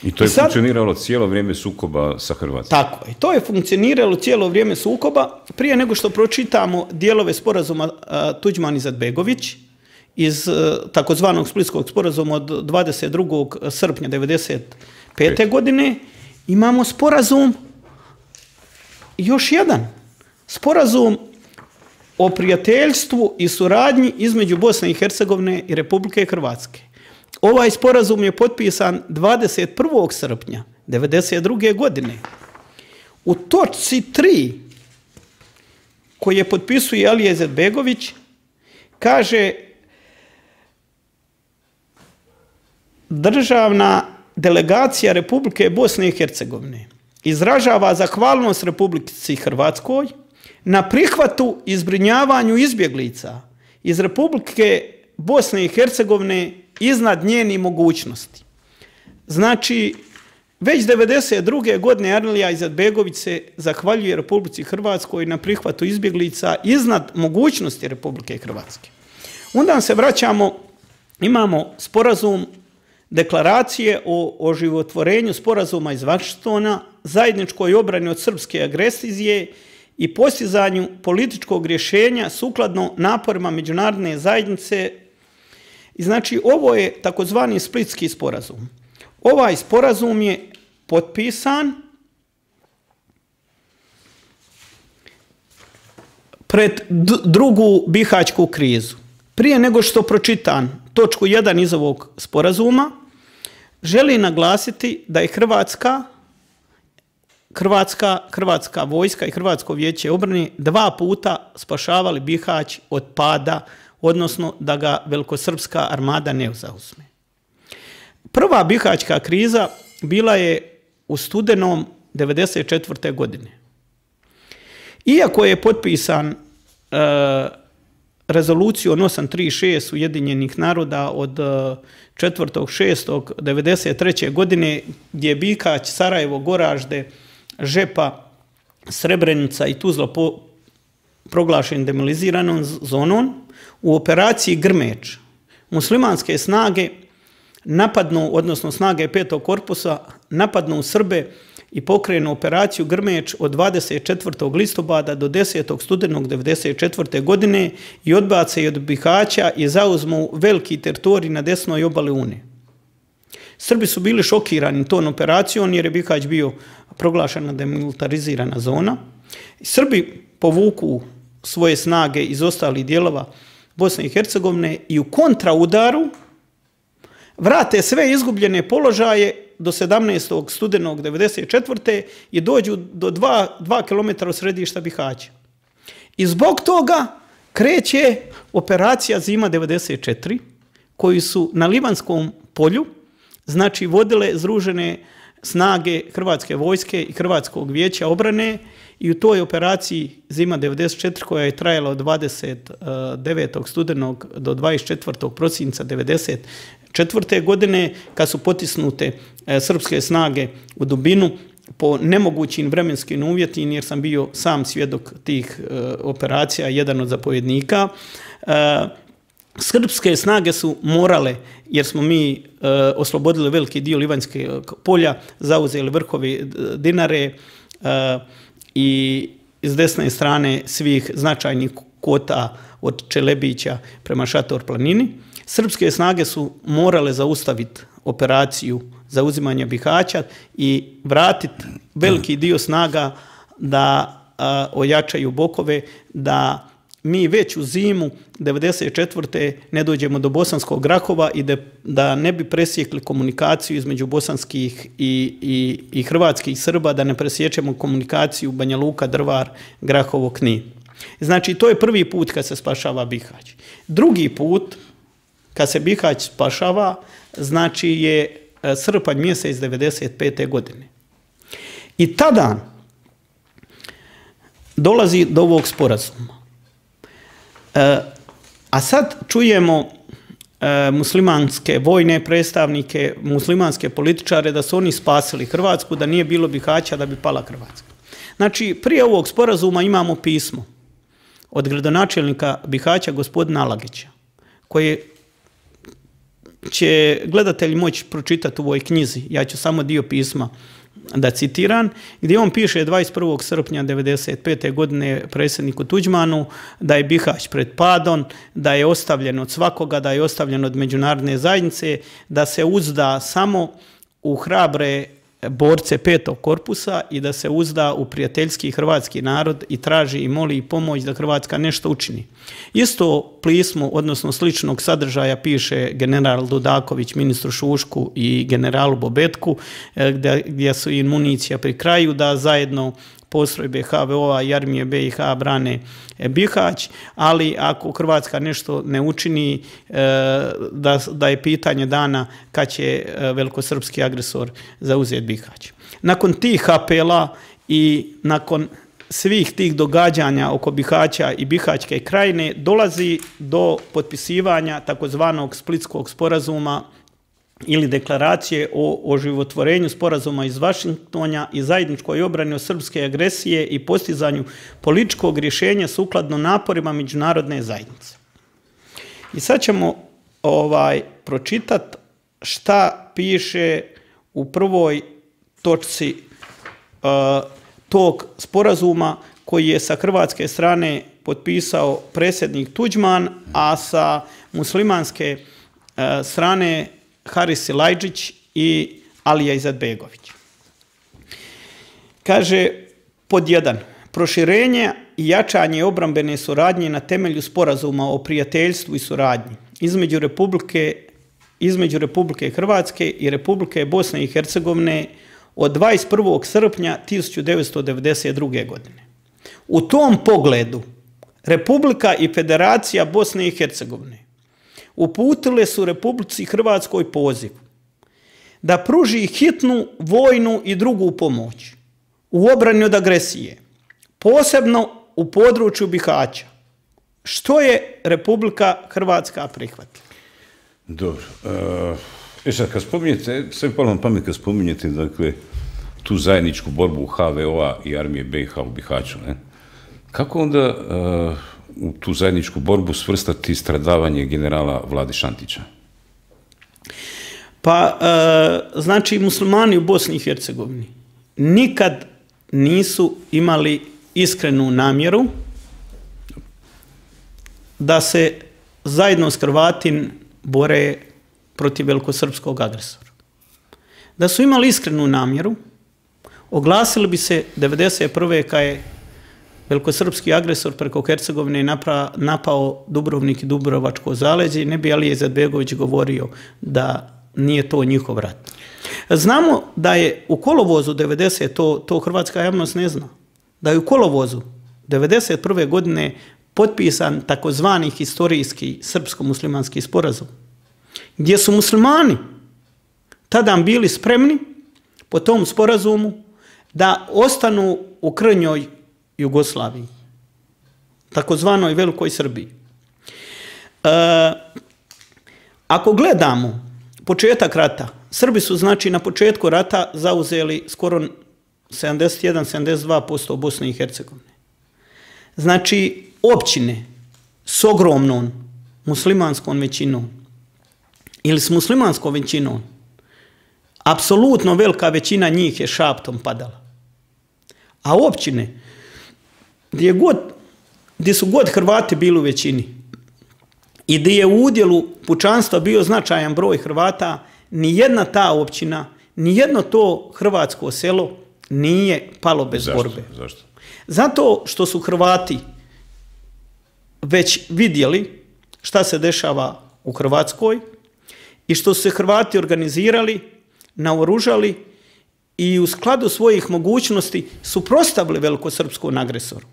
I to je I sad, funkcioniralo cijelo vrijeme sukoba sa Hrvatskom. Tako je. To je funkcioniralo cijelo vrijeme sukoba. Prije nego što pročitamo dijelove sporazuma uh, Tuđman-Izetbegović iz uh, takozvanog Splitskog sporazuma od dvadeset drugog srpnja devedeset pete. godine, imamo sporazum, još jedan, sporazum o prijateljstvu i suradnji između Bosne i Hercegovine i Republike Hrvatske. Ovaj sporazum je potpisan dvadeset prvog srpnja devedeset druge. godine. U točci tri, koje potpisuje Alija Izetbegović, kaže: državna delegacija Republike Bosne i Hercegovine izražava zahvalnost Republici Hrvatskoj na prihvatu i zbrinjavanju izbjeglica iz Republike Bosne i Hercegovine iznad njenih mogućnosti. Znači, već devedeset druge. godine Alija Izetbegović se zahvaljuje Republici Hrvatskoj na prihvatu izbjeglica iznad mogućnosti Republike Hrvatske. Onda se vraćamo, imamo sporazum deklaracije o oživotvorenju sporazuma iz Vašingtona, zajedničkoj obrani od srpske agresije i postizanju političkog rješenja sukladno naporima međunarodne zajednice. I znači, ovo je takozvani Splitski sporazum. Ovaj sporazum je potpisan pred drugu bihaćku krizu. Prije nego što pročitam točku jedan iz ovog sporazuma, želim naglasiti da je Hrvatska, Hrvatska, Hrvatska vojska i Hrvatsko vijeće obrane dva puta spašavali Bihać od pada, odnosno da ga velikosrpska armada ne zauzme. Prva bihaćka kriza bila je u studenom devedeset četvrte. godine. Iako je potpisan e, rezolucijom osam tri šest Ujedinjenih naroda od četvrtog šestog devedeset treće. godine, gdje je Bihać, Sarajevo, Goražde, Žepa, Srebrenica i Tuzla po, proglašen demilitariziranom zonom, u operaciji Grmeč muslimanske snage napadnu, odnosno snage petog korpusa, napadnu Srbe i pokrenu operaciju Grmeč od dvadeset četvrtog listopada do desetog studenog devedeset četvrte. godine i odbace od Bihaća i zauzmu veliki teritorij na desnoj obali Une. Srbi su bili šokirani tom operacijom jer je Bihać bio proglašena demilitarizirana zona. Srbi povuku svoje snage iz ostalih dijelova Bosne i Hercegovine i u kontraudaru vrate sve izgubljene položaje do sedamnaestog studenog devedeset četvrte i dođu do dva kilometra od središta Bihaća. I zbog toga kreće operacija Zima devedeset četiri, koju su na Livanskom polju, znači vodile združene snage Hrvatske vojske i Hrvatskog vijeća obrane, i u toj operaciji Zima devedeset četiri, koja je trajala od dvadeset devetog studenog do dvadeset četvrtog prosinca devedeset četvrte godine, kad su potisnute srpske snage u dubinu po nemogućim vremenskim uvjetima, jer sam bio sam svjedok tih operacija, jedan od zapovjednika. Srpske snage su morale, jer smo mi oslobodili veliki dio Livanjskog polja, zauzeli vrhove Dinare i s desne strane svih značajnih kota od Čelebića prema Šator planini. Srpske snage su morale zaustaviti operaciju zauzimanja Bihaća i vratiti veliki dio snaga da a, ojačaju bokove, da mi već u zimu devedeset četvrte ne dođemo do Bosanskog Grahova i da, da ne bi presjekli komunikaciju između bosanskih i, i, i hrvatskih Srba, da ne presjećemo komunikaciju Banja Luka, Drvar, Grahovo, Knin. Znači, to je prvi put kad se spašava Bihać. Drugi put kad se Bihać spašava, znači je srpanj mjesec devedeset pete godine. I tada dolazi do ovog sporazuma. E, a sad čujemo e, muslimanske vojne predstavnike, muslimanske političare da su oni spasili Hrvatsku, da nije bilo Bihaća da bi pala Hrvatska. Znači, prije ovog sporazuma imamo pismo od gradonačelnika Bihaća, gospodina Alagića, koje će gledatelji moći pročitati u ovoj knjizi. Ja ću samo dio pisma da citiram, gdje on piše dvadeset prvog srpnja devedeset pete godine predsjedniku Tuđmanu da je Bihać pred padom, da je ostavljen od svakoga, da je ostavljen od međunarodne zajednice, da se uzda samo u hrabre borce petog korpusa i da se uzda u prijateljski hrvatski narod i traži i moli pomoć da Hrvatska nešto učini. Isto pismo, odnosno sličnog sadržaja, piše general Dudaković ministru Šušku i generalu Bobetku, gdje, gdje su im municija pri kraju, da zajedno postrojbe ha ve o-a i armije be i ha brane Bihać, ali ako Hrvatska nešto ne učini, da, da je pitanje dana kad će velikosrpski agresor zauzeti Bihać. Nakon tih apela i nakon svih tih događanja oko Bihaća i Bihaćke krajine dolazi do potpisivanja takozvanog Splitskog sporazuma ili deklaracije o oživotvorenju sporazuma iz Vašingtona i zajedničkoj obrani od srpske agresije i postizanju političkog rješenja sukladno naporima međunarodne zajednice. I sad ćemo ovaj, pročitati šta piše u prvoj točci uh, tog sporazuma koji je sa hrvatske strane potpisao predsjednik Tuđman, a sa muslimanske uh, strane Haris Silajdžić i Alija Izetbegović. Kaže, pod jedan, proširenje i jačanje obrambene suradnje na temelju sporazuma o prijateljstvu i suradnji između Republike, između Republike Hrvatske i Republike Bosne i Hercegovine od dvadeset prvog srpnja tisuću devetsto devedeset druge. godine. U tom pogledu Republika i Federacija Bosne i Hercegovine uputile su Republici Hrvatskoj poziv da pruži hitnu vojnu i drugu pomoć u obrani od agresije, posebno u području Bihaća, što je Republika Hrvatska prihvatila. Dobro. E sad, kad spominjete, sve palo na pamet kad spominjete, dakle, tu zajedničku borbu ha ve o-a i armije be i ha u Bihaću, ne? Kako onda u tu zajedničku borbu svrstati stradavanje generala Vlade Šantića? Pa, e, znači, muslimani u Bosni i Hercegovini nikad nisu imali iskrenu namjeru da se zajedno s Hrvatin bore protiv velikosrpskog agresora. Da su imali iskrenu namjeru, oglasili bi se devedeset prve kad je velikosrpski agresor preko Hercegovine napao Dubrovnik i Dubrovačko zaleđe i ne bi Alija Izetbegović govorio da nije to njihov rat. Znamo da je u kolovozu devedesete to, to hrvatska javnost ne zna, da je u kolovozu devedeset prve godine potpisan takozvani historijski srpsko-muslimanski sporazum, gdje su muslimani tada bili spremni po tom sporazumu da ostanu u krnjoj Jugoslaviji, takozvanoj Velikoj Srbiji. E, ako gledamo početak rata, Srbi su znači na početku rata zauzeli skoro sedamdeset jedan do sedamdeset dva posto Bosne i Hercegovine. Znači općine s ogromnom muslimanskom većinom ili s muslimanskom većinom, apsolutno velika većina njih je šaptom padala. A općine gdje, god, gdje su god Hrvati bili u većini i gdje je u udjelu pučanstva bio značajan broj Hrvata, ni jedna ta općina, ni jedno to hrvatsko selo nije palo bez Zašto? borbe. Zašto? Zato što su Hrvati već vidjeli šta se dešava u Hrvatskoj i što su se Hrvati organizirali, naoružali i u skladu svojih mogućnosti suprotstavili velikosrpskom agresoru.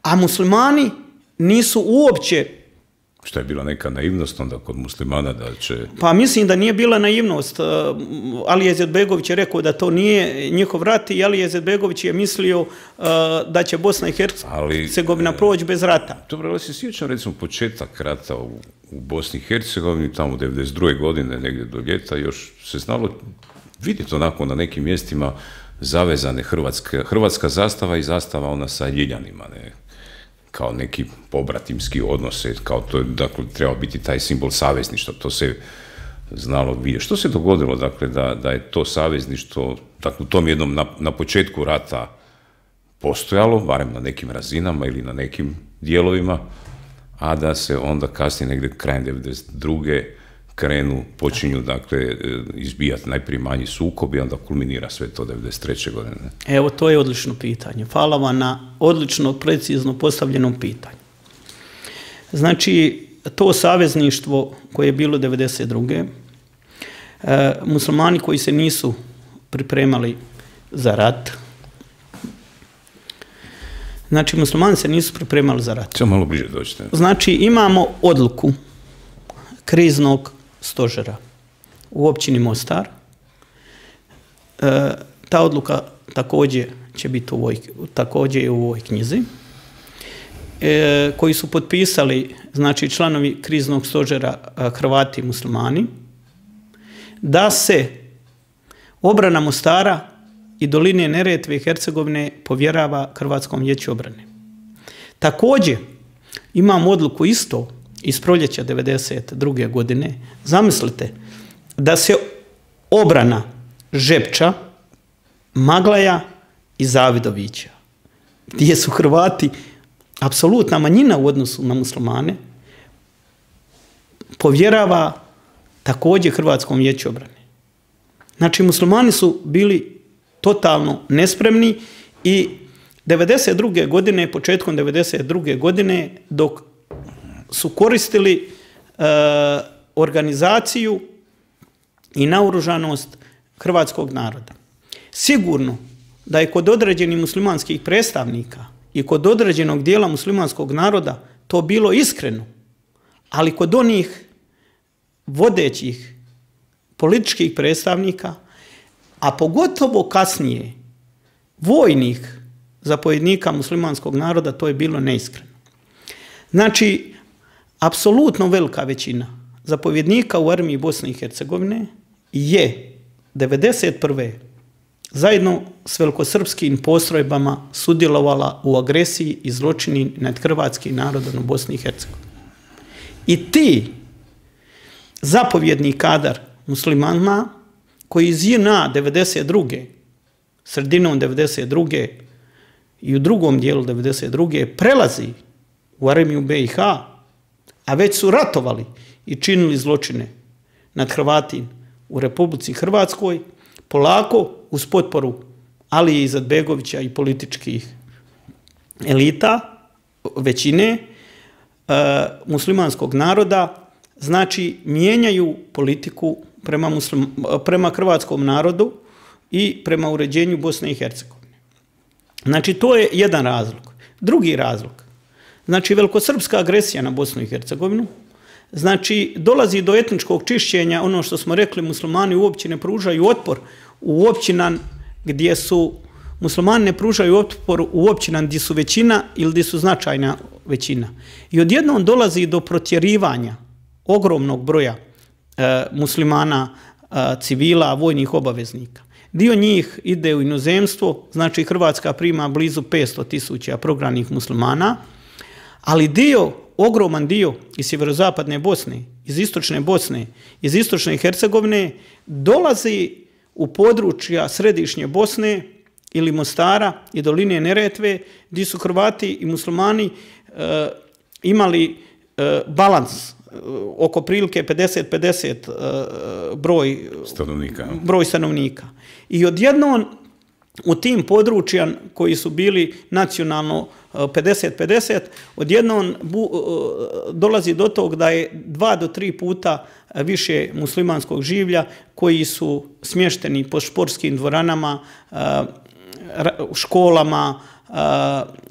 A muslimani nisu uopće... Što je bila neka naivnost onda kod muslimana da će... Pa mislim da nije bila naivnost. Alija Izetbegović je rekao da to nije njihov rat i Alija Izetbegović je mislio da će Bosna i Hercegovina proći bez rata. Dobro, ali se sjećam recimo početak rata u, u Bosni i Hercegovini, tamo devedeset druge godine, negdje do ljeta, još se znalo vidjeti onako na nekim mjestima zavezane hrvatska, hrvatska zastava i zastava ona sa ljiljanima, ne? Kao neki pobratimski odnose, kao to je, dakle, treba biti taj simbol savezništva, to se znalo vidjeti. Što se dogodilo, dakle, da, da je to savezništvo, dakle, u tom jednom na, na početku rata postojalo, barem na nekim razinama ili na nekim dijelovima, a da se onda kasnije negdje krajem devedeset druge krenu, počinju, dakle, izbijati najprije manji sukob i onda kulminira sve to devedeset treće godine. Evo, to je odlično pitanje. Hvala vam na odlično, precizno postavljenom pitanju. Znači, to savezništvo koje je bilo devedeset druge E, muslimani koji se nisu pripremali za rat, znači, muslimani se nisu pripremali za rat. Samo malo bliže dođete. Znači, imamo odluku kriznog stožera u općini Mostar. E, ta odluka također će biti u ovoj, također je u ovoj knjizi, e, koji su potpisali, znači, članovi kriznog stožera Hrvati i muslimani, da se obrana Mostara i doline Neretve i Hercegovine povjerava Hrvatskom vijeću obrane. Također imamo odluku isto iz proljeća devedeset druge godine. Zamislite da se obrana Žepča, Maglaja i Zavidovića, gdje su Hrvati apsolutna manjina u odnosu na muslimane, povjerava također Hrvatskom vijeću obrane. Znači, muslimani su bili totalno nespremni i devedeset druge godine, početkom devedeset druge godine, dok su koristili e, organizaciju i naoružanost hrvatskog naroda. Sigurno da je kod određenih muslimanskih predstavnika i kod određenog dijela muslimanskog naroda to bilo iskreno, ali kod onih vodećih političkih predstavnika, a pogotovo kasnije vojnih zapovjednika muslimanskog naroda, to je bilo neiskreno. Znači, apsolutno velika većina zapovjednika u armiji Bosne i Hercegovine je devedeset prve zajedno s velikosrpskim postrojbama sudjelovala u agresiji i zločini nad hrvatskim narodom u Bosni i Hercegovini. I ti zapovjedni kadar muslimana koji iz J N A devedeset druge, sredinom devedeset druge i u drugom dijelu devedeset druge prelazi u armiju B i H, a već su ratovali i činili zločine nad Hrvatima u Republici Hrvatskoj, polako uz potporu Alije Izetbegovića i političkih elita, većine e, muslimanskog naroda, znači mijenjaju politiku prema, muslim, prema hrvatskom narodu i prema uređenju Bosne i Hercegovine. Znači to je jedan razlog. Drugi razlog, znači velikosrpska agresija na Bosnu i Hercegovinu, znači dolazi do etničkog čišćenja, ono što smo rekli, muslimani uopće ne pružaju otpor u općinama gdje su, muslimani ne pružaju otpor u općinama gdje su većina ili gdje su značajna većina. I odjednom dolazi do protjerivanja ogromnog broja e, muslimana, e, civila, vojnih obaveznika. Dio njih ide u inozemstvo, znači Hrvatska prima blizu petsto tisuća prognanih muslimana, ali dio, ogroman dio iz sjeverozapadne Bosne, iz istočne Bosne, iz istočne Hercegovine dolazi u područja središnje Bosne ili Mostara i doline Neretve, gdje su Hrvati i muslimani e, imali e, balans, oko prilike pedeset pedeset broj stanovnika. broj stanovnika. I odjednom u tim područjima koji su bili nacionalno pedeset pedeset, odjednom dolazi do tog da je dva do tri puta više muslimanskog življa koji su smješteni po športskim dvoranama, školama,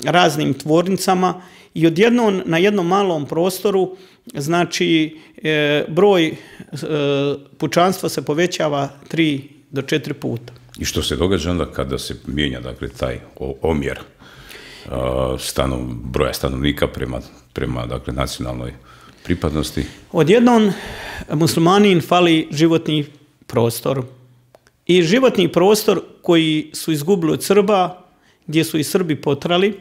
raznim tvornicama i odjednom na jednom malom prostoru znači broj pučanstva se povećava tri do četiri puta. I što se događa onda kada se mijenja dakle taj omjer stanov, broja stanovnika prema, prema dakle, nacionalnoj pripadnosti? Odjednom muslimanin fali životni prostor. I životni prostor koji su izgubili od Srba, gdje su i Srbi potrali,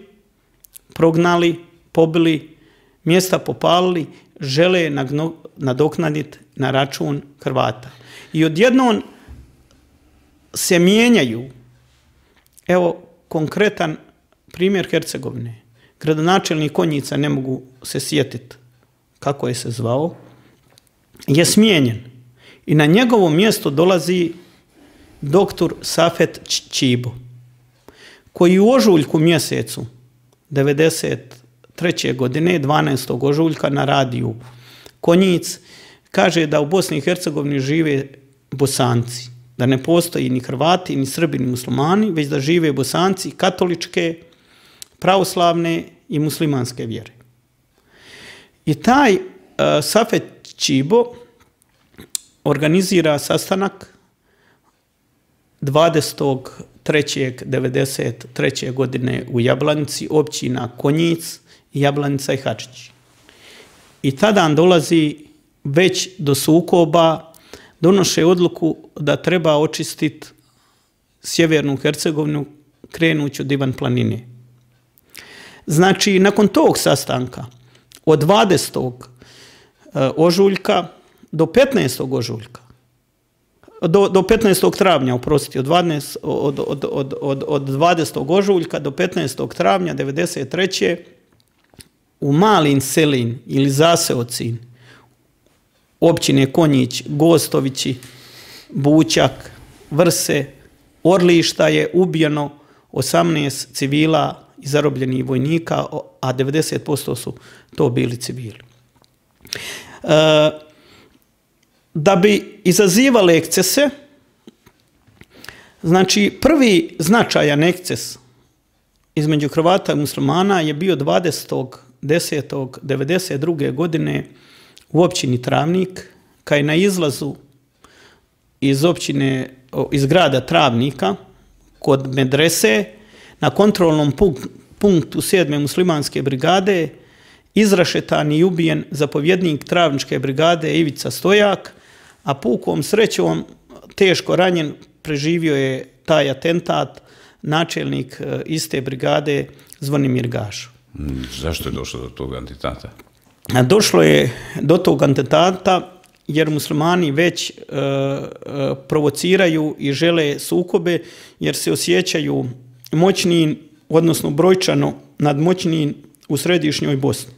prognali, pobili, mjesta popalili, žele nadoknaditi na račun Hrvata. I odjednom se mijenjaju, evo konkretan primjer Hercegovine. Gradonačelnik Konjica, ne mogu se sjetiti kako je se zvao, je smijenjen. I na njegovo mjesto dolazi doktor Safet Čibo, koji u ožujku mjesecu devedeset treće godine, dvanaestog ožujka na radiju Konjic, kaže da u Bosni i Hercegovini žive Bosanci, da ne postoji ni Hrvati, ni Srbi, ni muslimani, već da žive Bosanci katoličke, pravoslavne i muslimanske vjere. I taj uh, Safet Čibo organizira sastanak dvadesetog trećeg devedeset treće godine u Jablanici, općina Konjic, Jablanica i Hadžić. I tada dolazi već do sukoba, donoše odluku da treba očistiti sjevernu Hercegovinu krenući od Ivan planine. Znači, nakon tog sastanka, od dvadesetog ožujka do petnaestog ožujka, do, do petnaestog travnja, oprostite, od, od, od, od, od, od dvadesetog ožujka do petnaestog travnja devedeset treće u Malin Selin ili Zaseocin, općine Konjić, Gostovići, Bućak, Vrse, Orlišta je ubijeno osamnaest civila i zarobljenih vojnika, a devedeset posto su to bili civili. E, da bi izazivali ekscese, znači prvi značajan eksces između Hrvata i muslimana je bio dvadesetog desetog devedeset druge godine u općini Travnik, kad je na izlazu iz općine, iz grada Travnika, kod medrese, na kontrolnom punktu sedme muslimanske brigade, izrašetan i ubijen zapovjednik Travničke brigade Ivica Stojak, a pukom srećom teško ranjen preživio je taj atentat načelnik iste brigade Zvonimir Gašo. Zašto je došlo do tog atentata? Došlo je do tog atentata jer muslimani već e, provociraju i žele sukobe jer se osjećaju moćnijim, odnosno brojčano nadmoćnijim u središnjoj Bosni.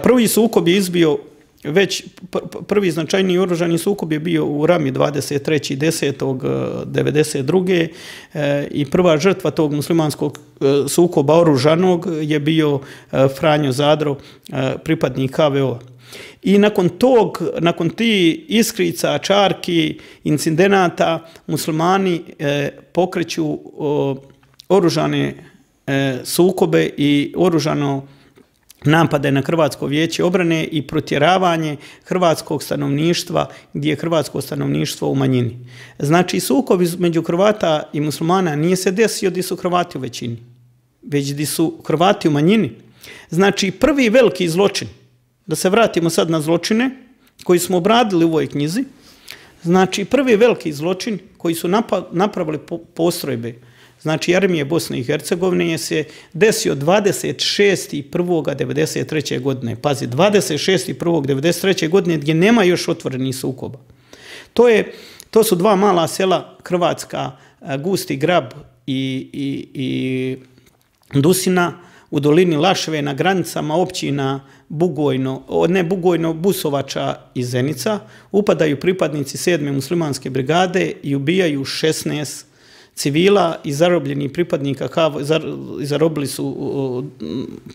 Prvi sukob je izbio već prvi značajniji oružani sukob je bio u Rami dvadeset trećeg desetog devedeset druge i prva žrtva tog muslimanskog sukoba oružanog je bio Franjo Zadro, pripadnik H V O. I nakon tog, nakon tih iskrica, čarki, incidenata, muslimani pokreću oružane sukobe i oružano napade na Hrvatsko vijeće obrane i protjeravanje hrvatskog stanovništva gdje je hrvatsko stanovništvo u manjini. Znači, sukob između Hrvata i muslimana nije se desio gdje su Hrvati u većini, već gdje su Hrvati u manjini. Znači, prvi veliki zločin, da se vratimo sad na zločine koji smo obradili u ovoj knjizi, znači, prvi veliki zločin koji su napravili postrojbe, znači armije Bosne i Hercegovine, je se desio dvadeset šestog prvog devedeset treće godine. Pazi, dvadeset šestog prvog devedeset treće godine gdje nema još otvorenih sukoba. To, je, to su dva mala sela Hrvatska, Gusti Grab i, i, i Dusina u dolini Lašve na granicama općina Bugojno, ne Bugojno, Busovača i Zenica. Upadaju pripadnici sedme muslimanske brigade i ubijaju šesnaest civila i zarobljeni pripadnika H V O, zarobili su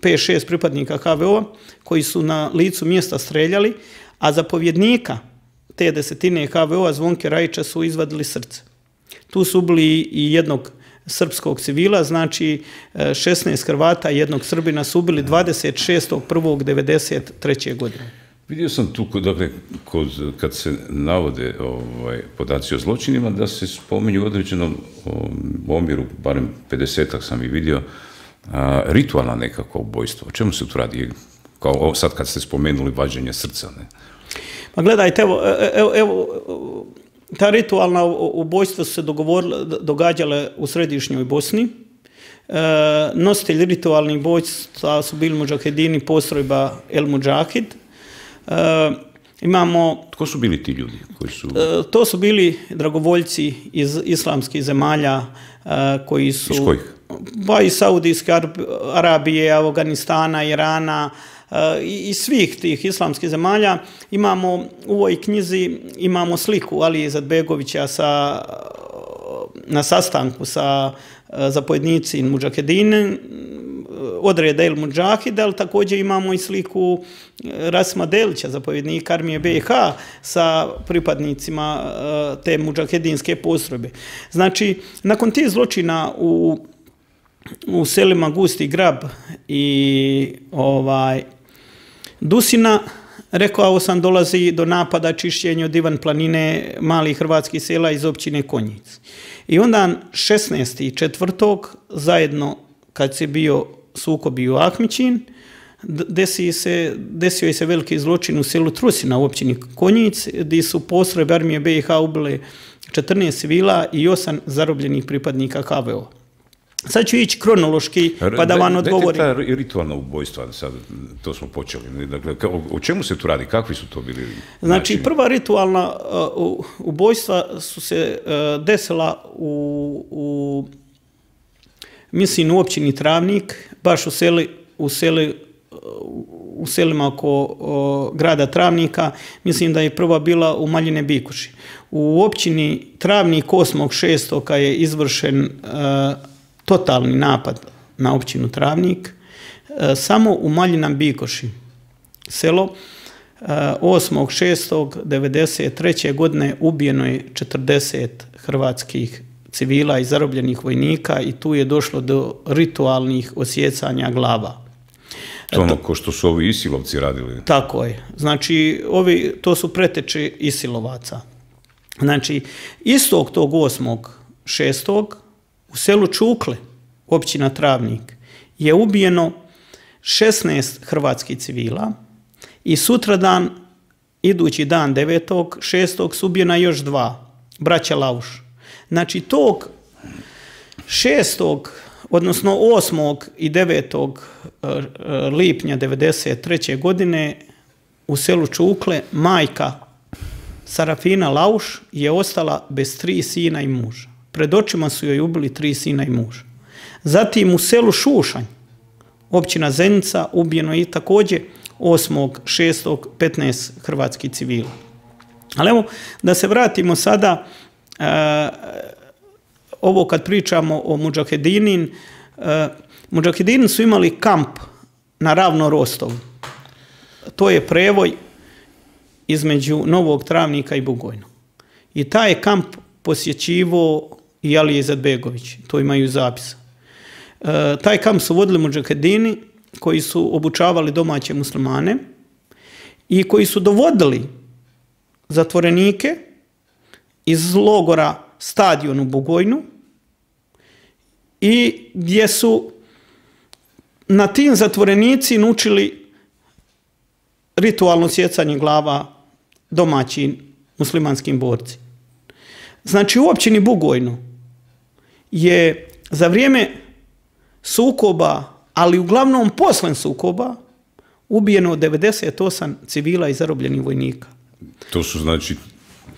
pet šest pripadnika H V O koji su na licu mjesta streljali, a zapovjednika te desetine H V O-a Zvonke Rajića su izvadili srce. Tu su ubili i jednog srpskog civila, znači šesnaest Hrvata i jednog Srbina su ubili dvadeset šestog prvog devedeset treće godine. Vidio sam tu, dakle, kod, kad se navode ovaj, podaci o zločinima, da se spominju u određenom omjeru, barem pedesetak sam i vidio, a, ritualna nekakva ubojstva. O čemu se tu radi? Kao sad kad ste spomenuli vađenje srca, ne? Pa gledajte, evo, evo, evo ta ritualna ubojstva su se događale u središnjoj Bosni. E, nositelji ritualnih ubojstva su bili mudžahedini, postrojba El Mudžahid. E, imamo... Tko su bili ti ljudi? Koji su... E, to su bili dragovoljci iz islamskih zemalja e, koji su... Iz kojih? Pa iz Saudijske Arabije, Afganistana, Irana e, i svih tih islamskih zemalja. Imamo u ovoj knjizi imamo sliku Alije Izetbegovića sa, na sastanku sa zapovjednici Mudžahedine, odreda El Mudžahid, ali također imamo i sliku Rasima Delića, zapovjednika armije B i H, sa pripadnicima te mudžahedinske postrojbe. Znači, nakon tih zločina u, u selima Gusti Grab i ovaj, Dusina, rekao sam, dolazi do napada, čišćenja od Ivan planine malih hrvatskih sela iz općine Konjic. I onda šesnaestog četvrtog zajedno, kad se bio sukob u Ahmićin, desio se, desio je se veliki zločin u selu Trusina u općini Konjic, gdje su postrojbe armije B i H ubile četrnaest civila i osam zarobljenih pripadnika H V O. Sad ću ići kronološki, pa da vam odgovorim. Dajte ta ritualna ubojstva, sad to smo počeli. Dakle, o čemu se tu radi? Kakvi su to bili načini? Znači, prva ritualna uh, ubojstva su se uh, desila u, u mislim, u općini Travnik, baš u, seli, u, seli, u selima oko uh, grada Travnika. Mislim da je prva bila u Maljine Bikuši. U općini Travnik osmog šestog je izvršen uh, totalni napad na općinu Travnik. E, samo u Maljinom Bikoši, selo, e, osmog šestog devedeset treće godine ubijeno je četrdeset hrvatskih civila i zarobljenih vojnika i tu je došlo do ritualnih osjecanja glava. To ono ko što su ovi Isilovci radili. Tako je. Znači, ovi, to su preteče Isilovaca. Znači, istog tog osmog šestog u selu Čukle, općina Travnik, je ubijeno šesnaest hrvatskih civila i sutradan, idući dan devetog šestog su ubijena još dva, braća Lauš. Znači, tog šestog odnosno osmog i devetog lipnja devedeset treće godine u selu Čukle majka Sarafina Lauš je ostala bez tri sina i muža. Pred očima su joj ubili tri sina i muža. Zatim u selu Šušanj, općina Zenica, ubijeno je također osmog šestog petnaest hrvatskih civila. Ali evo, da se vratimo sada, uh, ovo kad pričamo o Mudžahedinin, uh, Mudžahedini su imali kamp na Ravno Rostovu. To je prevoj između Novog Travnika i Bugojna. I taj je kamp posjećivo i Alija Izetbegović, to imaju zapisa. Uh, taj kamp su vodili Mudžahedini koji su obučavali domaće muslimane i koji su dovodili zatvorenike iz logora Stadion u Bugojnu i gdje su na tim zatvorenici naučili ritualno sjecanje glava domaćim muslimanskim borci. Znači u općini Bugojno je za vrijeme sukoba, ali uglavnom posle sukoba, ubijeno devedeset osam civila i zarobljenih vojnika. To su znači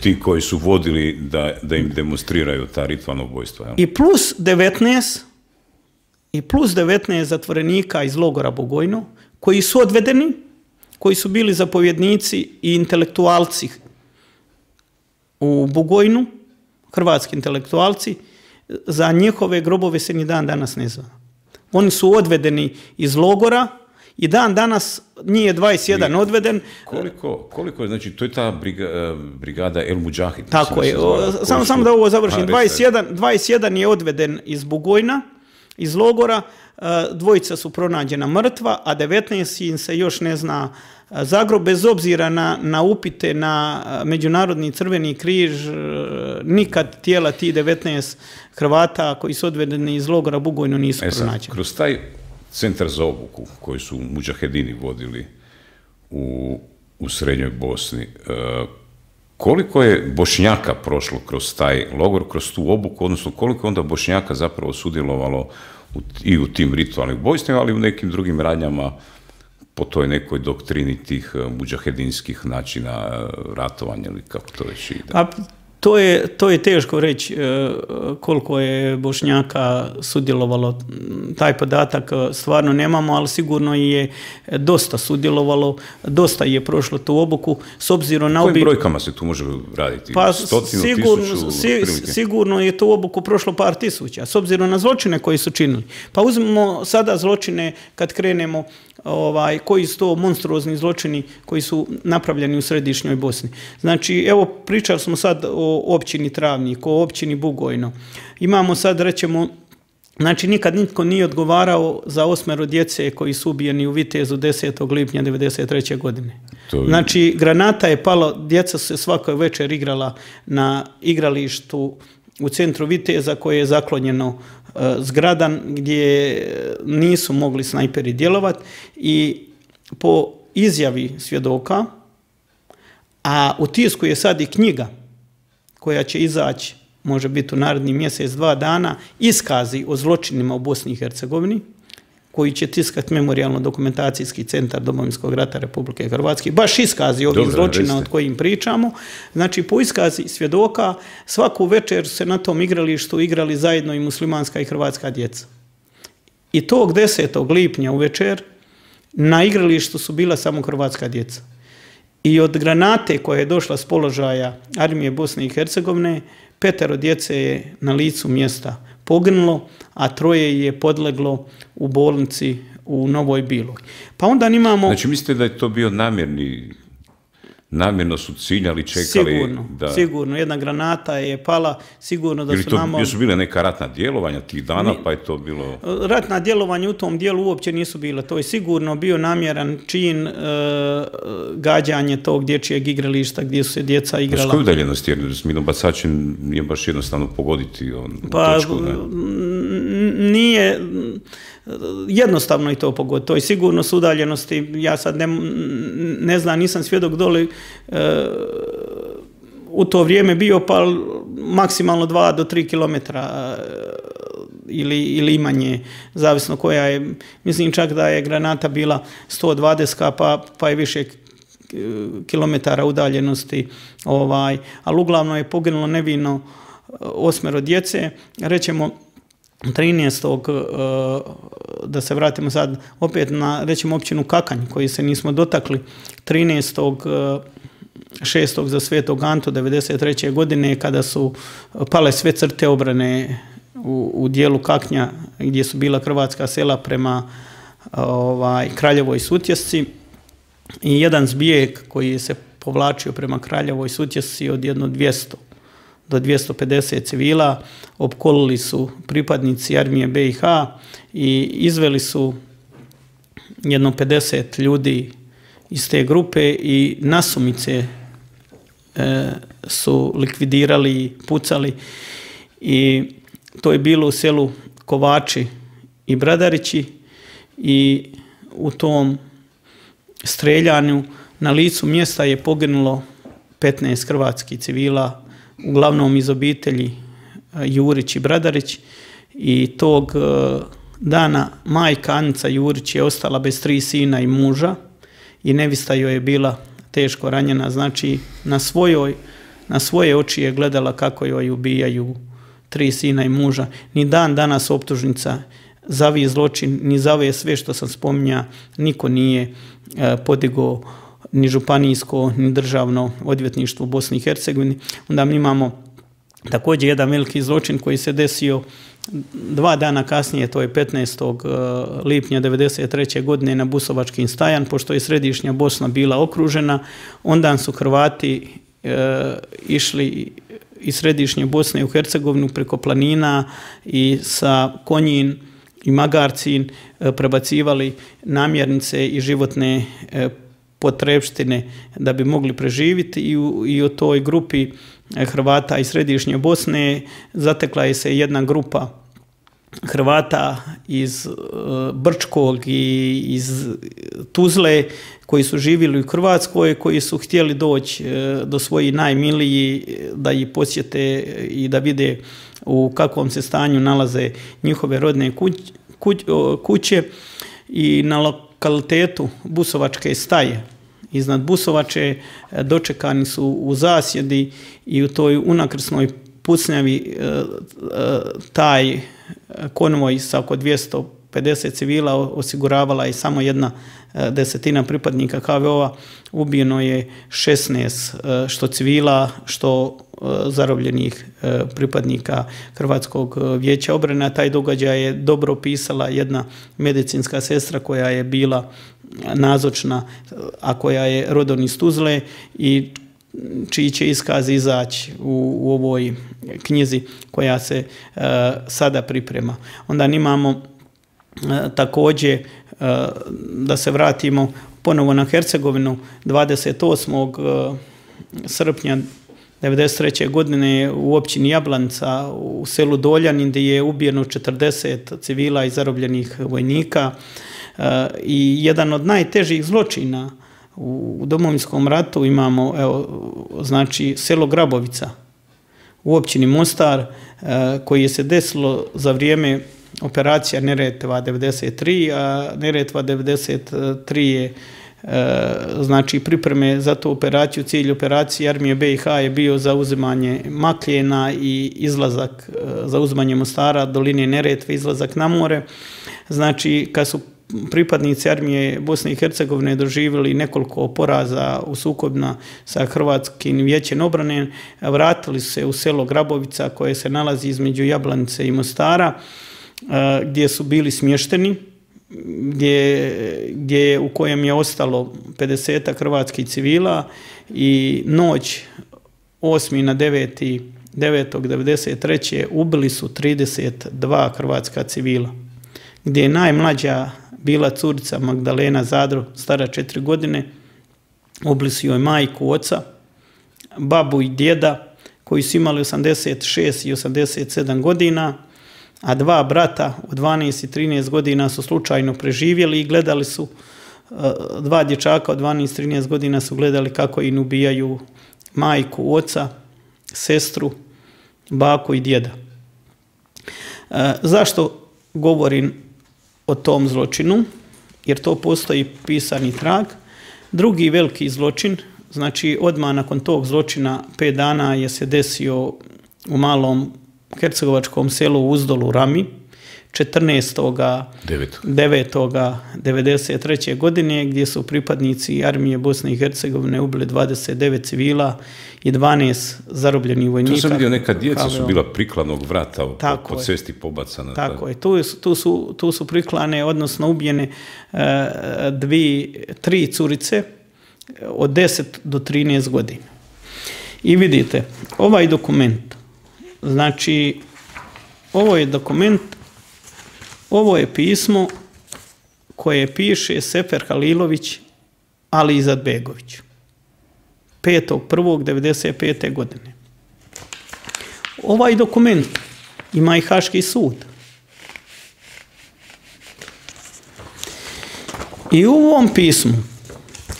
ti koji su vodili da, da im demonstriraju ta ritualna ubojstva. Jel? I plus devetnaest i plus devetnaest zatvorenika iz logora Bugojno koji su odvedeni, koji su bili zapovjednici i intelektualci u Bugojnu, hrvatski intelektualci, za njihove grobove se ni dan danas ne zna. Oni su odvedeni iz logora i dan danas njih je dvadeset jedan I odveden. Koliko, koliko je, znači, to je ta briga, brigada El Mudžahid. Tako je, samo, samo da ovo završim. dvadeset jedan, dvadeset jedan je odveden iz Bugojna, iz logora, dvojica su pronađena mrtva, a devetnaest im se još ne zna za grob, bez obzira na, na upite na Međunarodni crveni križ, nikad tijela ti devetnaest Hrvata koji su odvedeni iz logora Bugojno nisu e sad, pronađeni. Kroz taj centar za obuku koji su Mudžahedini vodili u, u Srednjoj Bosni, koliko je Bošnjaka prošlo kroz taj logor, kroz tu obuku, odnosno koliko je onda Bošnjaka zapravo sudjelovalo u, i u tim ritualnim ubojstvima, ali i u nekim drugim radnjama po toj nekoj doktrini tih mudžahedinskih načina ratovanja ili kako to već ide? A to je, to je teško reći koliko je Bošnjaka sudjelovalo. Taj podatak stvarno nemamo, ali sigurno je dosta sudjelovalo, dosta je prošlo tu obuku. S obzirom na kojim brojkama se tu može raditi? Pa Stotinu, sigurno, tisuću, si, sigurno je tu obuku prošlo par tisuća, s obzirom na zločine koji su činili. Pa uzmemo sada zločine kad krenemo, ovaj, koji su to monstruozni zločini koji su napravljeni u središnjoj Bosni. Znači, evo, pričali smo sad o općini Travnik, o općini Bugojno. Imamo sad, rećemo, znači, nikad nitko nije odgovarao za osmero djece koji su ubijeni u Vitezu desetog lipnja devedeset treće godine. To... Znači, granata je palo, djeca su se svakoj večer igrala na igralištu u centru Viteza koje je zaklonjeno zgradan gdje nisu mogli snajperi djelovati i po izjavi svjedoka, a u tisku je sad i knjiga koja će izaći, može biti u naredni mjesec, dva dana, iskazi o zločinima u Bosni i Hercegovini, koji će tiskati Memorijalno-dokumentacijski centar Domovinskog rata Republike Hrvatske, baš iskazi ovih zločina od kojim pričamo. Znači, po iskazi svjedoka, svaku večer se na tom igralištu igrali zajedno i muslimanska i hrvatska djeca. I tog desetog lipnja uvečer na igralištu su bila samo hrvatska djeca. I od granate koja je došla s položaja armije Bosne i Hercegovine, petero djece je na licu mjesta poginulo, a troje je podleglo u bolnici u Novoj Biloj. Pa onda imamo... Znači, mislite da je to bio namjerni, namjerno su ciljali, čekali... Sigurno, da... sigurno. Jedna granata je pala, sigurno da ili su to, nama... Ili su bile neka ratna djelovanja tih dana, Ni... pa je to bilo... Ratna djelovanja u tom dijelu uopće nisu bile. To je sigurno bio namjeran čin, e, gađanje tog dječjeg igrališta gdje su se djeca igrala. S koju udaljenost, jer s minobacačem nije baš jednostavno pogoditi on, pa, točku, ne? Nije... Jednostavno je to pogoditi. To je sigurno s udaljenosti. Ja sad ne, ne znam, nisam svjedok dole e, u to vrijeme bio, pa maksimalno dva do tri kilometra e, ili, ili manje, zavisno koja je. Mislim čak da je granata bila sto dvadeset pa, pa je više kilometara udaljenosti. Ovaj, ali uglavnom je poginulo nevino osmero djece. Rećemo, trinaestog da se vratimo sad opet na, rećemo, općinu Kakanj, koji se nismo dotakli, trinaestog šestog za Svetog Antu devedeset treće godine, kada su pale sve crte obrane u, u dijelu Kaknja, gdje su bila hrvatska sela prema ovaj, Kraljevoj Sutjesci, i jedan zbijeg koji se povlačio prema Kraljevoj Sutjesci od jedno dvjesto do dvjesto pedeset civila, opkolili su pripadnici armije be i ha i izveli su jedno pedeset ljudi iz te grupe i nasumice e, su likvidirali, pucali, i to je bilo u selu Kovači i Bradarići, i u tom streljanju na licu mjesta je poginulo petnaest hrvatskih civila, uglavnom iz obitelji Jurić i Bradarić, i tog dana majka Anica Jurić je ostala bez tri sina i muža, i nevista joj je bila teško ranjena, znači na svojoj, na svoje oči je gledala kako joj ubijaju tri sina i muža. Ni dan danas optužnica za ovi zločin, ni za ove sve što sam spominja, niko nije podigao, ni županijsko, ni državno odvjetništvo u Bosni i Hercegovini. Onda mi imamo također jedan veliki zločin koji se desio dva dana kasnije, to je petnaestog lipnja devedeset treće godine na Busovačkim stajan, pošto je središnja Bosna bila okružena. Onda su Hrvati e, išli iz središnje Bosne u Hercegovinu preko planina i sa Konjin i Magarcin e, prebacivali namirnice i životne e, potrepštine da bi mogli preživjeti, i u, i u toj grupi Hrvata iz središnje Bosne zatekla je se jedna grupa Hrvata iz Brčkog i iz Tuzle koji su živjeli u Hrvatskoj, koji su htjeli doći do svojih najmilijih da ih posjete i da vide u kakvom se stanju nalaze njihove rodne kuće, i na lokalitetu Busovačke staje iznad Busovače dočekani su u zasjedi, i u toj unakrsnoj pucnjavi taj konvoj sa oko dvjesto pedeset civila osiguravala je samo jedna desetina pripadnika ha ve o-a. Ubijeno je šesnaest što civila, što zarobljenih pripadnika Hrvatskog vijeća obrane. Taj događaj je dobro opisala jedna medicinska sestra koja je bila nazočna, a koja je rodom iz Tuzle, i čiji će iskaz izaći u, u ovoj knjizi koja se uh, sada priprema. Onda imamo uh, također uh, da se vratimo ponovo na Hercegovinu, dvadeset osmog srpnja devedeset treće godine u općini Jablanca u selu Doljanin, gdje je ubijeno četrdeset civila i zarobljenih vojnika, uh, i jedan od najtežih zločina u Domovinskom ratu imamo, evo, znači, selo Grabovica u općini Mostar, koji je se desilo za vrijeme operacija Neretva devedeset tri, a Neretva devedeset tri je, znači, pripreme za tu operaciju. Cilj operacije armije be i ha je bio zauzimanje Makljena i izlazak, zauzimanje Mostara, doline Neretve, izlazak na more. Znači, kad su pripadnici armije Bosne i Hercegovine doživjeli nekoliko poraza u sukobima sa Hrvatskim vijećem obrane, vratili su se u selo Grabovica koje se nalazi između Jablanice i Mostara, gdje su bili smješteni, gdje, gdje u kojem je ostalo pedeset hrvatskih civila, i noć osmi na deveti devetog devedeset treće ubili su trideset dva hrvatska civila, gdje je najmlađa bila curica Magdalena Zadro, stara četiri godine, ubili su joj majku, oca, babu i djeda, koji su imali osamdeset šest i osamdeset sedam godina, a dva brata od dvanaest i trinaest godina su slučajno preživjeli i gledali su, dva dječaka od dvanaest i trinaest godina su gledali kako im ubijaju majku, oca, sestru, baku i djeda. Zašto govorim o tom zločinu? Jer to postoji pisani trag. Drugi veliki zločin, znači odmah nakon tog zločina pet dana je se desio u malom hercegovačkom selu Uzdolu Rami, četrnaestog devetog devedeset treće. godine gdje su pripadnici armije Bosne i Hercegovine ubili dvadeset devet civila i dvanaest zarobljenih vojnika. Tu sam vidio, neka djeca su bila prikladnog vrata po cesti pobacana. Tako je, tu, tu, su, tu su priklane, odnosno ubijene uh, dvi, tri curice od deset do trinaest godina. I vidite, ovaj dokument, znači, ovo je dokument, ovo je pismo koje piše Sefer Halilović Ali Izetbegović petog prvog devedeset pete. godine. Ovaj dokument ima i Haški sud. I u ovom pismu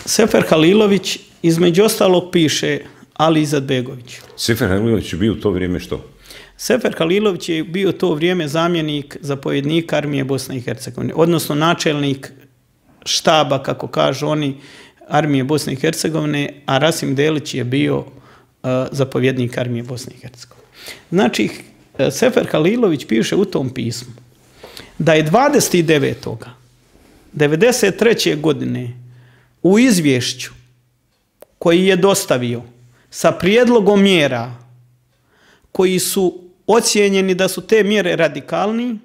Sefer Halilović između ostalog piše Ali Izetbegović. Sefer Halilović je bio u to vrijeme što? Sefer Halilović je bio u to vrijeme zamjenik zapovjednika armije Bosne i Hercegovine, odnosno načelnik štaba, kako kažu oni, armije Bosne i Hercegovine, a Rasim Delić je bio uh, zapovjednik armije Bosne i Hercegovine. Znači, Sefer Halilović piše u tom pismu da je dvadeset devetog devedeset treće. godine u izvješću koji je dostavio sa prijedlogom mjera koji su ocijenjeni da su te mjere radikalni,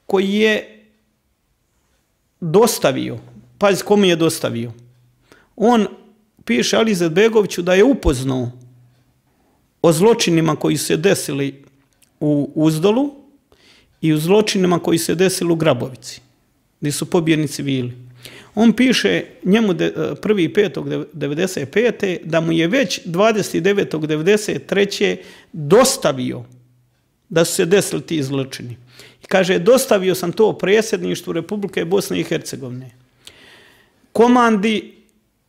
koji je dostavio, pazi komu je dostavio, on piše Ali Izetbegoviću da je upoznao o zločinima koji su se desili u Uzdolu i u zločinima koji su se desili u Grabovici, gdje su pobijeni civili. On piše njemu prvi petog devedeset pete. da mu je već dvadeset devetog devedeset treće. dostavio da su se desili ti zločini. I kaže, dostavio sam to predsjedništvu Republike Bosne i Hercegovine, komandi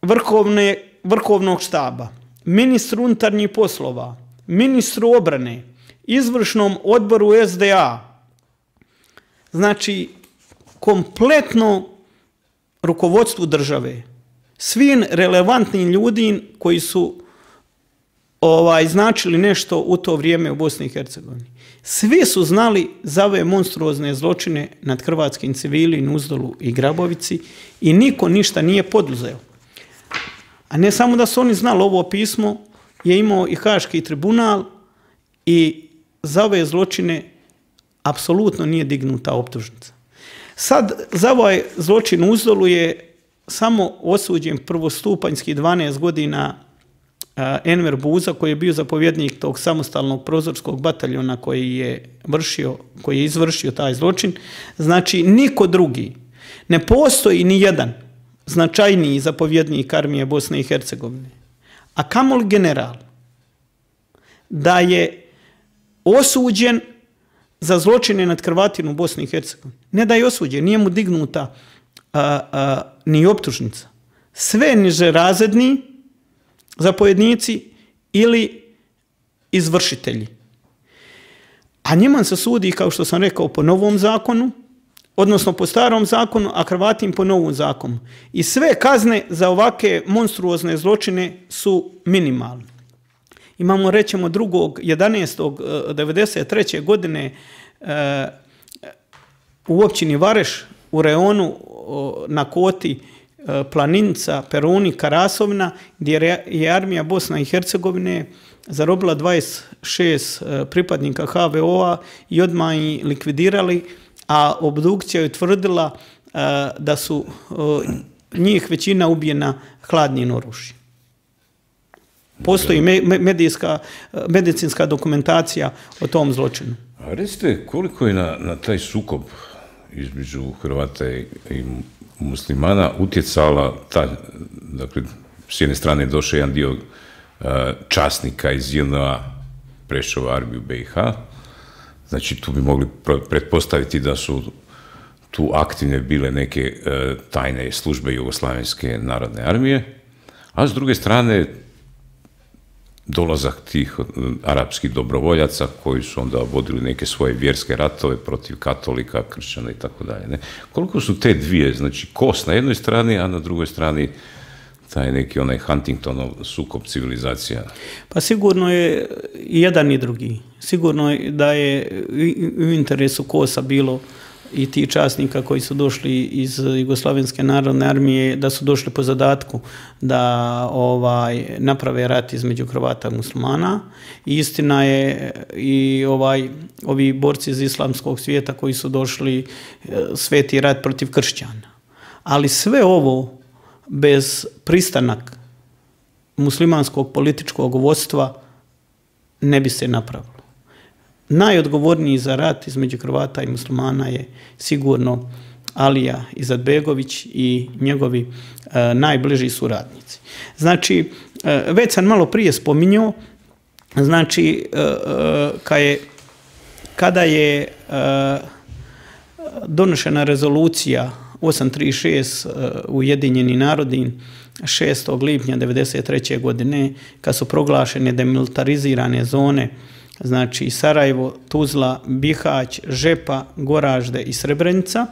vrhovne, vrhovnog štaba, ministru unutarnjih poslova, ministru obrane, izvršnom odboru S D A, znači kompletno rukovodstvu države, svim relevantnim ljudima koji su ovaj, značili nešto u to vrijeme u Bosni i Hercegovini. Svi su znali za ove monstruozne zločine nad hrvatskim civilima u Uzdolu i Grabovici i niko ništa nije poduzeo. A ne samo da su oni znali, ovo pismo je imao i Haški tribunal i za ove zločine apsolutno nije dignuta optužnica. Sad, za ovaj zločin u Uzdolu je samo osuđen prvostupanjski dvanaest godina Enver Buza, koji je bio zapovjednik tog samostalnog prozorskog bataljona koji je vršio, koji je izvršio taj zločin. Znači, niko drugi. Ne postoji ni jedan značajniji zapovjednik armije Bosne i Hercegovine, a kamoli general, da je osuđen za zločine nad Hrvatima u Bosni i Hercegovini. Ne da je osuđen, nije mu dignuta a, a, ni optužnica. Sve nižerazredni zapovjednici ili izvršitelji. A njima se sudi, kao što sam rekao, po novom zakonu, odnosno po starom zakonu, a Hrvatima po novom zakonu. I sve kazne za ovake monstruozne zločine su minimalne. Imamo, rećemo, drugog jedanaestog devedeset treće. godine e, u općini Vareš, u reonu o, na Koti, e, Planinca, Peruni, Karasovna, gdje je armija Bosna i Hercegovine zarobila dvadeset šest e, pripadnika H V O-a i odmah ih likvidirali, a obdukcija je utvrdila e, da su e, njih većina ubijena hladnim oružjem. Postoji medijska, medicinska dokumentacija o tom zločinu. A recite, koliko je na, na taj sukob između Hrvata i, i muslimana utjecala ta, dakle, s jedne strane je došao jedan dio uh, časnika iz J N A prešao u armiju B i H, znači tu bi mogli pretpostaviti da su tu aktivne bile neke uh, tajne službe Jugoslavenske narodne armije, a s druge strane dolazak tih arapskih dobrovoljaca koji su onda vodili neke svoje vjerske ratove protiv katolika, kršćana i tako dalje. Koliko su te dvije, znači kos na jednoj strani, a na drugoj strani taj neki onaj Huntingtonov sukob civilizacija? Pa sigurno je i jedan i drugi. Sigurno je da je u interesu Kosa bilo i ti časnika koji su došli iz Jugoslavenske narodne armije, da su došli po zadatku da ovaj naprave rat između Hrvata i muslimana. I istina je i ovaj ovi borci iz islamskog svijeta koji su došli sveti rat protiv kršćana. Ali sve ovo bez pristanak muslimanskog političkog vodstva ne bi se napravilo. Najodgovorniji za rat između Hrvata i muslimana je sigurno Alija Izetbegović i njegovi e, najbliži suradnici. Znači, e, već sam malo prije spominjao, znači, e, e, kad je, kada je e, donošena rezolucija osam trideset šest e, Ujedinjeni narodi šestog lipnja devedeset treće godine, kad su proglašene demilitarizirane zone, znači Sarajevo, Tuzla, Bihać, Žepa, Goražde i Srebrenica.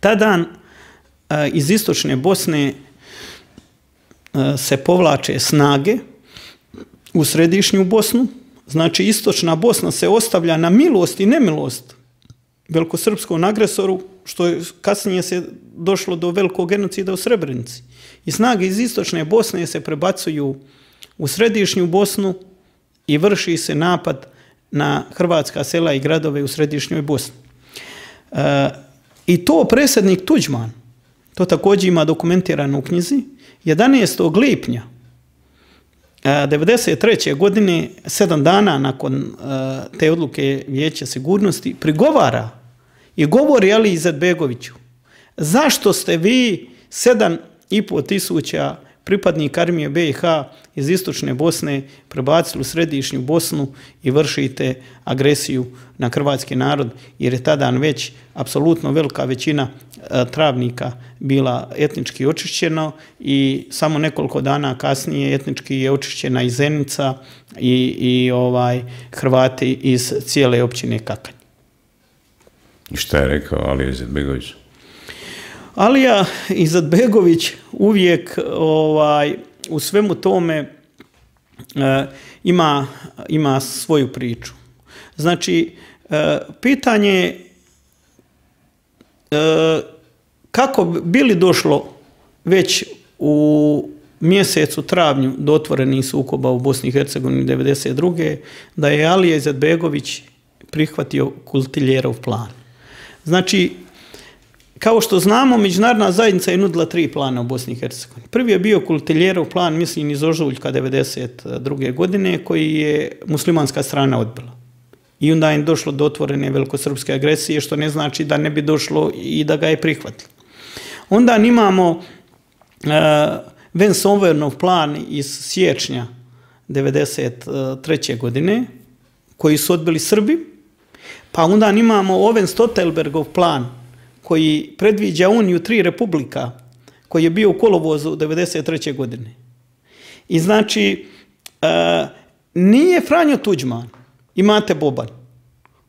Tada e, iz istočne Bosne e, se povlače snage u središnju Bosnu. Znači istočna Bosna se ostavlja na milost i nemilost velikosrpskom agresoru, što je kasnije se došlo do velikog genocida u Srebrenici. I snage iz istočne Bosne se prebacuju u središnju Bosnu i vrši se napad na hrvatska sela i gradove u središnjoj Bosni. E, I to predsjednik Tuđman, to također ima dokumentirano u knjizi, jedanaestog lipnja devedeset treće godine, sedam dana nakon e, te odluke Vijeća sigurnosti, prigovara i govori Aliji Izetbegoviću: zašto ste vi sedam i pol tisuća pripadnika armije B i H iz istočne Bosne prebacili u središnju Bosnu i vršite agresiju na hrvatski narod, jer je tada već apsolutno velika većina e, travnika bila etnički očišćena i samo nekoliko dana kasnije etnički je očišćena i Zenica i, i ovaj Hrvati iz cijele općine Kakanj. I šta je rekao Alija Izetbegović? Alija Izetbegović uvijek ovaj, u svemu tome e, ima, ima svoju priču. Znači, e, pitanje e, kako bi li došlo već u mjesecu travnju do otvorenih sukoba u Bosni i Hercegovini devedeset druge da je Alija Izetbegović prihvatio Kultiljerov plan. Znači, kao što znamo, međunarodna zajednica je nudila tri plana u Bosni i Hercegovini. Prvi je bio Kultiljerov plan, mislim iz ožujka devedeset druge godine, koji je muslimanska strana odbila. I onda je došlo do otvorene velikosrpske agresije, što ne znači da ne bi došlo i da ga je prihvatilo. Onda imamo uh, Vance-Owenov plan iz siječnja devedeset treće godine, koji su odbili Srbi. Pa onda imamo Owen-Stoltenbergov plan, koji predviđa uniju tri republika, koji je bio u kolovozu devedeset treće godine. I znači, e, nije Franjo Tuđman i Mate Boban,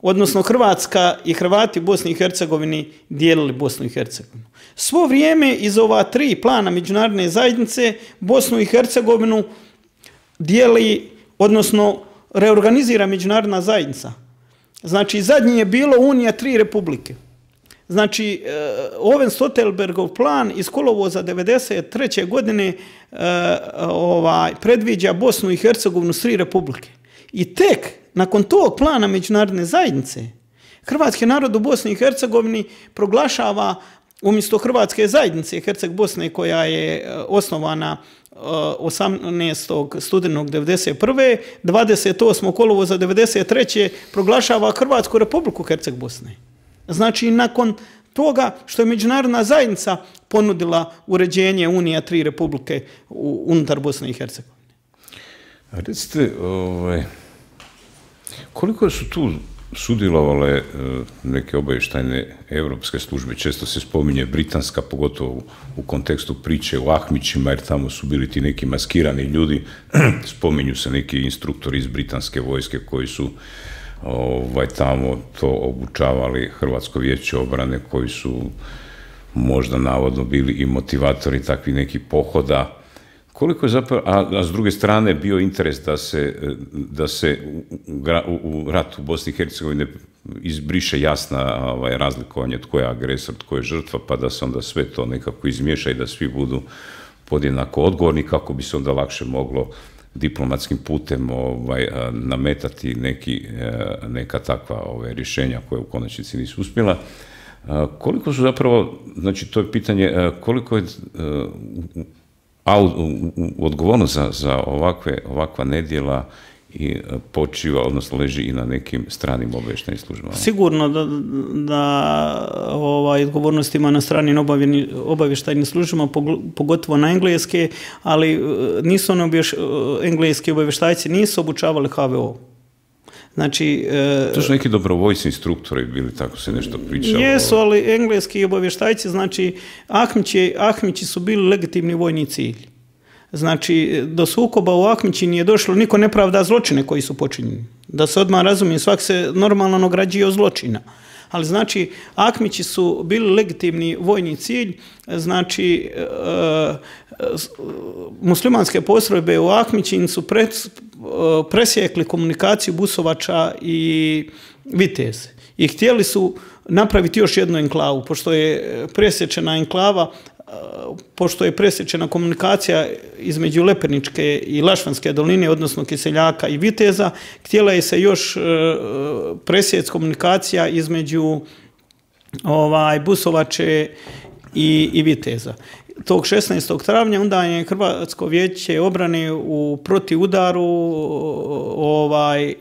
odnosno Hrvatska i Hrvati u Bosni i Hercegovini dijelili Bosnu i Hercegovinu. Svo vrijeme iz ova tri plana međunarodne zajednice Bosnu i Hercegovinu dijeli, odnosno reorganizira međunarodna zajednica. Znači, zadnji je bilo unija tri republike. Znači, Owen-Stoltenbergov plan iz kolovoza devedeset treće godine e, ovaj, predviđa Bosnu i Hercegovinu s tri republike. I tek nakon tog plana međunarodne zajednice hrvatski narod u Bosni i Hercegovini proglašava umjesto Hrvatske zajednice Herceg Bosne, koja je osnovana osamnaestog studenog devedeset prve dvadeset osmog kolovoza devedeset treće proglašava Hrvatsku republiku Herceg Bosne. Znači, nakon toga što je međunarodna zajednica ponudila uređenje unija tri republike unutar Bosne i Hercegovine. A recite, ovaj, koliko su tu sudjelovale neke obavještajne evropske službe? Često se spominje britanska, pogotovo u kontekstu priče o Ahmićima, jer tamo su bili ti neki maskirani ljudi. Spominju se neki instruktori iz britanske vojske koji su ovaj, tamo to obučavali Hrvatsko vijeće obrane, koji su možda navodno bili i motivatori takvih nekih pohoda. Koliko je zapravo, a, a s druge strane bio interes da se, da se u, u, u ratu u Bosni i Hercegovini izbriše jasna ovaj, razlikovanje tko je agresor, tko je žrtva, pa da se onda sve to nekako izmiješa i da svi budu podjednako odgovorni, kako bi se onda lakše moglo diplomatskim putem ovaj, nametati neki, neka takva ovaj, rješenja koje u konačnici nisu uspjela. Koliko su zapravo, znači to je pitanje, koliko je a odgovornost za, za ovakve, ovakva nedjela i počiva, odnosno leži i na nekim stranim obavještajnim službama? Sigurno da, da ovaj, odgovornost ima na stranim obavještajnim službama, pogotovo na engleske, ali nisu oni obješ, engleski obavještajci nisu obučavali H V O. Znači, to su neki dobrovoljci instruktori bili, tako se nešto pričalo. Jesu, ali engleski obavještajci, znači, Ahmići, Ahmići su bili legitimni vojni cilj. Znači, do sukoba u Ahmići nije došlo, niko ne pravda zločine koji su počinjeni. Da se odmah razumije, svak se normalno nagrađuje od zločina. Ali znači, Ahmići su bili legitimni vojni cilj, znači, e, muslimanske postrojbe u Ahmićin su pre, presjekli komunikaciju Busovača i Viteze. I htjeli su napraviti još jednu enklavu, pošto je presječena enklava, pošto je presječena komunikacija između Lepeničke i Lašvanske doline, odnosno Kiseljaka i Viteza, htjela je se još presjeć komunikacija između ovaj, Busovače i, i Viteza. Tog šesnaestog travnja onda je Hrvatsko vijeće obrane u protivudaru ovaj, e,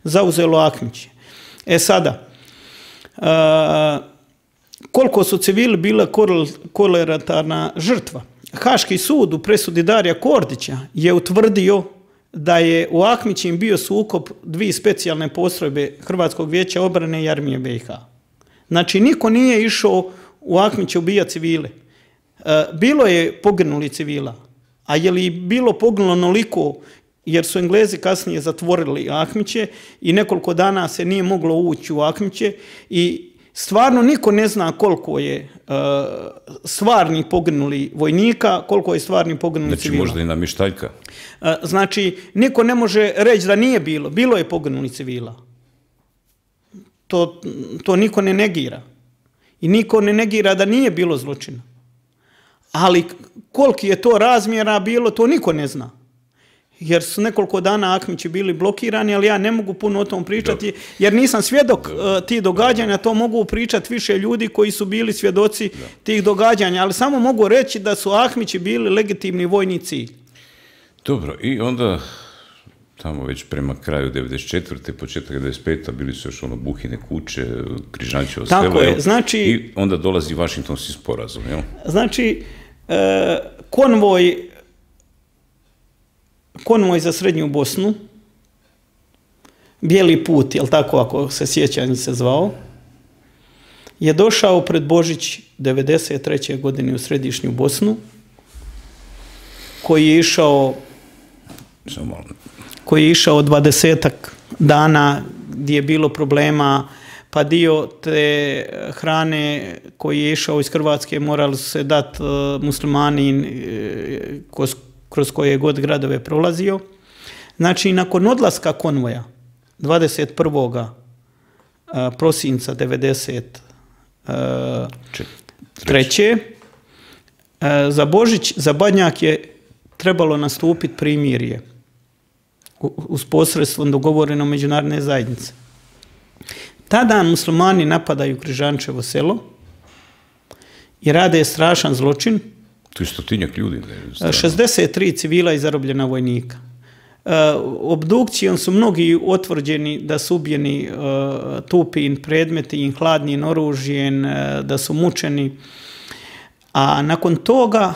zauzelo Ahmiće. E sada, e, koliko su civili bile kolateralna žrtva? Haški sud u presudi Darija Kordića je utvrdio da je u Ahmićima bio sukob dvije specijalne postrojbe Hrvatskog vijeća obrane i armije B i H. Znači, niko nije išao u Ahmiće ubijati civile. Bilo je poginuli civila, a je li bilo poginulo onoliko, jer su Englezi kasnije zatvorili Ahmiće i nekoliko dana se nije moglo ući u Ahmiće i stvarno niko ne zna koliko je uh, stvarni poginuli vojnika, koliko je stvarni poginuli znači, civila. Znači možda i namještaljka? Uh, znači, niko ne može reći da nije bilo. Bilo je poginuli civila. To, to niko ne negira. I niko ne negira da nije bilo zločina. Ali koliki je to razmjera bilo, to niko ne zna. Jer su nekoliko dana Ahmići bili blokirani, ali ja ne mogu puno o tom pričati, Dobre. jer nisam svjedok uh, tih događanja, to mogu pričati više ljudi koji su bili svjedoci da. tih događanja, ali samo mogu reći da su Ahmići bili legitimni vojni cilj. Dobro, i onda tamo već prema kraju devedeset četvrte početak devedeset pete bili su još ono Buhine kuće, Križančevo selo. Tako je, znači... I onda dolazi Vašingtonski sporazum, jel? Znači, e, konvoj konvoj za Srednju Bosnu, Bijeli put, jel tako, ako se sjećam se zvao, je došao pred Božić devedeset treće godine u Središnju Bosnu, koji je išao koji je išao dvadesetak dana gdje je bilo problema, pa dio te hrane koji je išao iz Hrvatske morali su se dati uh, muslimani uh, kroz, kroz koje god gradove prolazio. Znači, nakon odlaska konvoja dvadeset prvog prosinca devedeset treće Uh, za Božić, za Badnjak je trebalo nastupiti primirje uz posredstvom dogovoreno međunarodne zajednice. Tada muslimani napadaju Križančevo selo i rade strašan zločin. To je stotinjak ljudi. šezdeset tri civila i zarobljena vojnika. Uh, obdukcijom su mnogi otvrđeni da su ubijeni uh, tupim predmeti, hladnim oružjem, uh, da su mučeni. A nakon toga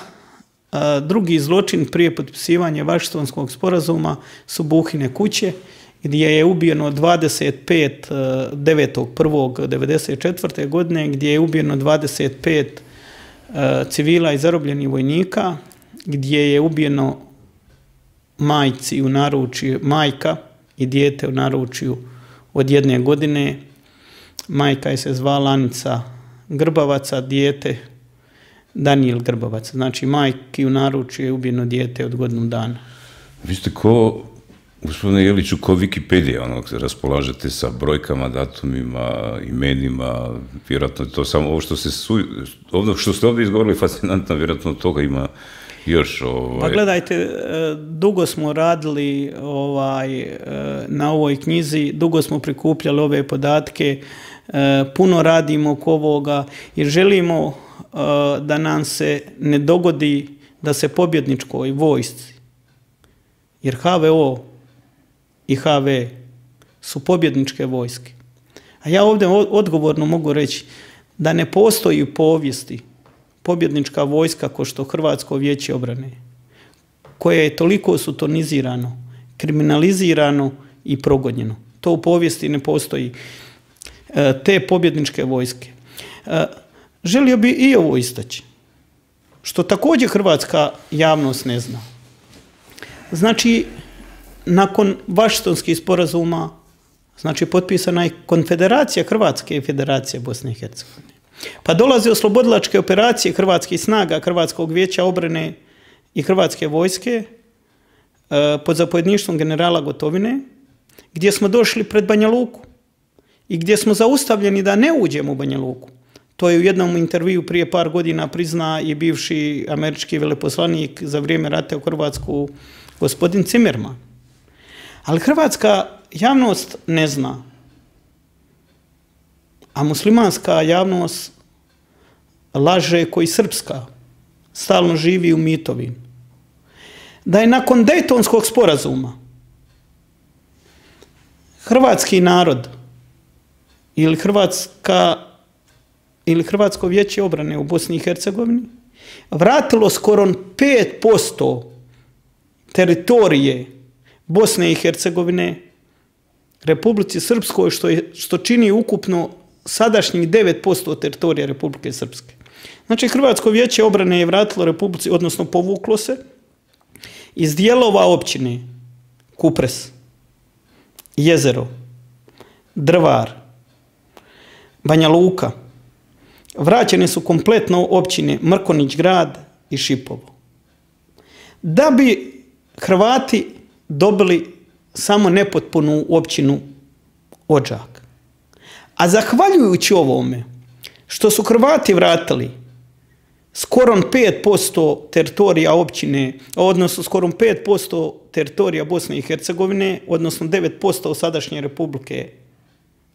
uh, drugi zločin prije potpisivanja Vašingtonskog sporazuma su Buhine kuće, gdje je ubijeno dvadeset pet devetog prvog devedeset četvrte godine, gdje je ubijeno dvadeset pet uh, civila i zarobljenih vojnika, gdje je ubijeno majci u naručju, majka i dijete u naručju od jedne godine. Majka je se zvala Anica Grbavaca, dijete Danijel Grbavac. Znači, majki u naručju je ubijeno dijete od godinu dana. Vi ste ko, gospodine Jeliću, ko Wikipedija, ono, raspolažete sa brojkama, datumima, imenima, vjerojatno to samo ovo što, se su, ovo što ste ovdje izgovorili fascinantno, vjerojatno toga ima još. Ovaj... Pa gledajte, dugo smo radili ovaj, na ovoj knjizi, dugo smo prikupljali ove podatke, puno radimo oko ovoga jer želimo da nam se ne dogodi da se pobjedničkoj vojsci, jer ha ve o i ha ve su pobjedničke vojske. A ja ovdje odgovorno mogu reći da ne postoji u povijesti pobjednička vojska kao što Hrvatsko vijeće obrane, koje je toliko sutonizirano, kriminalizirano i progonjeno. To u povijesti ne postoji. Te pobjedničke vojske. Želio bi i ovo istaći, što također hrvatska javnost ne zna. Znači, nakon Vašingtonskih sporazuma, znači potpisana je Konfederacija Hrvatske i Federacije Bosne i Hercegovine. Pa dolaze oslobodilačke operacije hrvatskih snaga, Hrvatskog vijeća obrane i Hrvatske vojske pod zapovjedništvom generala Gotovine, gdje smo došli pred Banja Luku i gdje smo zaustavljeni da ne uđemo u Banja Luku. To je u jednom intervju prije par godina prizna i bivši američki veleposlanik za vrijeme rata u Hrvatsku, gospodin Zimmerman. Ali hrvatska javnost ne zna, a muslimanska javnost laže koji srpska, stalno živi u mitovima. Da je nakon Dejtonskog sporazuma hrvatski narod ili Hrvatska ili Hrvatsko vijeće obrane u Bosni i Hercegovini vratilo skoro pet posto teritorije Bosne i Hercegovine Republici Srpskoj, što, je, što čini ukupno sadašnjih devet posto teritorija Republike Srpske. Znači, Hrvatsko vijeće obrane je vratilo Republici, odnosno povuklo se iz dijelova općine Kupres, Jezero, Drvar, Banja Luka. Vraćene su kompletno općine Mrkonić grad i Šipovo. Da bi Hrvati dobili samo nepotpunu općinu Odžak. A zahvaljujući ovome što su Hrvati vratili skoro pet posto teritorija općine, odnosno skoro pet posto teritorija Bosne i Hercegovine, odnosno devet posto sadašnje Republike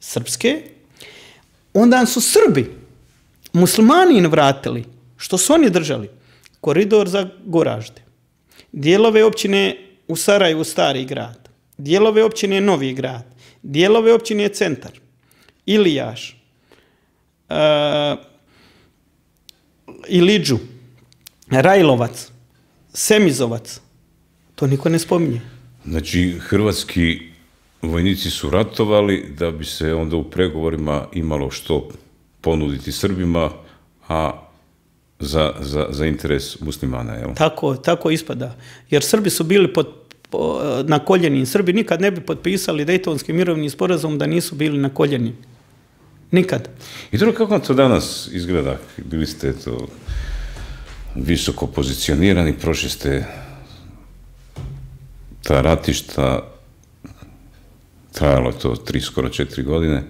Srpske, onda su Srbi, muslimani vratili, što su oni držali, koridor za Goražde, dijelove općine u Sarajevu Stari grad, dijelove općine Novi grad, dijelove općine Centar, Ilijaš, uh, Ilidžu, Rajlovac, Semizovac. To niko ne spominje. Znači, hrvatski vojnici su ratovali da bi se onda u pregovorima imalo što ponuditi Srbima, a za, za, za interes muslimana, jel? Tako, tako ispada. Jer Srbi su bili pod, po, na koljenim. Srbi nikad ne bi potpisali Dejtonski mirovni sporazum da nisu bili na koljenim. Nikad. I dobro, kako to danas izgleda? Bili ste to visoko pozicionirani, prošli ste ta ratišta, trajalo je to tri, skoro četiri godine,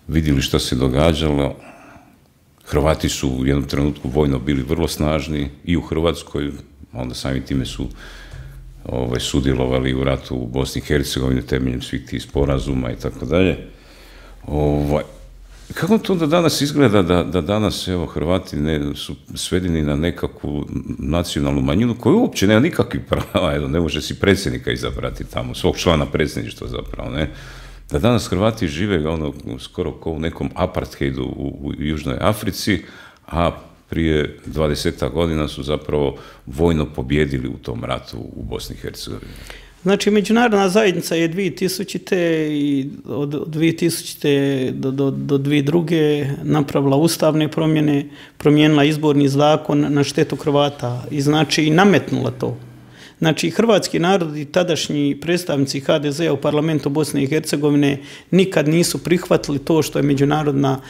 vidjeli što se događalo. Hrvati su u jednom trenutku vojno bili vrlo snažni i u Hrvatskoj, onda samim time su ovaj, sudjelovali u ratu u Bosni i Hercegovini temeljem svih tih sporazuma i tako dalje. Ovaj, kako to da danas izgleda da, da danas evo, Hrvati ne, su svedeni na nekakvu nacionalnu manjinu koja uopće nema nikakvih prava, evo, ne može si predsjednika izabrati tamo, svog člana predsjedništva zapravo, ne? Da danas Hrvati žive ono, skoro kao u nekom apartheidu u, u Južnoj Africi, a prije dvadesetak godina su zapravo vojno pobjedili u tom ratu u Bosni i Hercegovini. Znači, međunarodna zajednica je dvije tisućite i od dvije tisućite do, do, do dvije tisuće druge napravila ustavne promjene, promijenila izborni zakon na štetu Hrvata i znači i nametnula to. Znači, hrvatski narod i tadašnji predstavnici ha de zea u parlamentu Bosne i Hercegovine nikad nisu prihvatili to što je međunarodna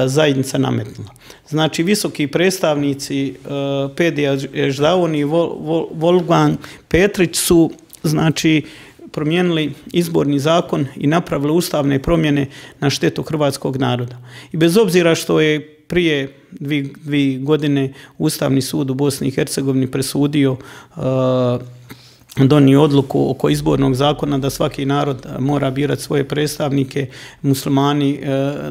zajednica nametnula. Znači, visoki predstavnici Pedija Ždauni i Wolfgang Petrić su, znači, promijenili izborni zakon i napravili ustavne promjene na štetu hrvatskog naroda. I bez obzira što je prije dvije godine Ustavni sud u Bosni i Hercegovini presudio, donio odluku oko izbornog zakona da svaki narod mora birati svoje predstavnike, muslimani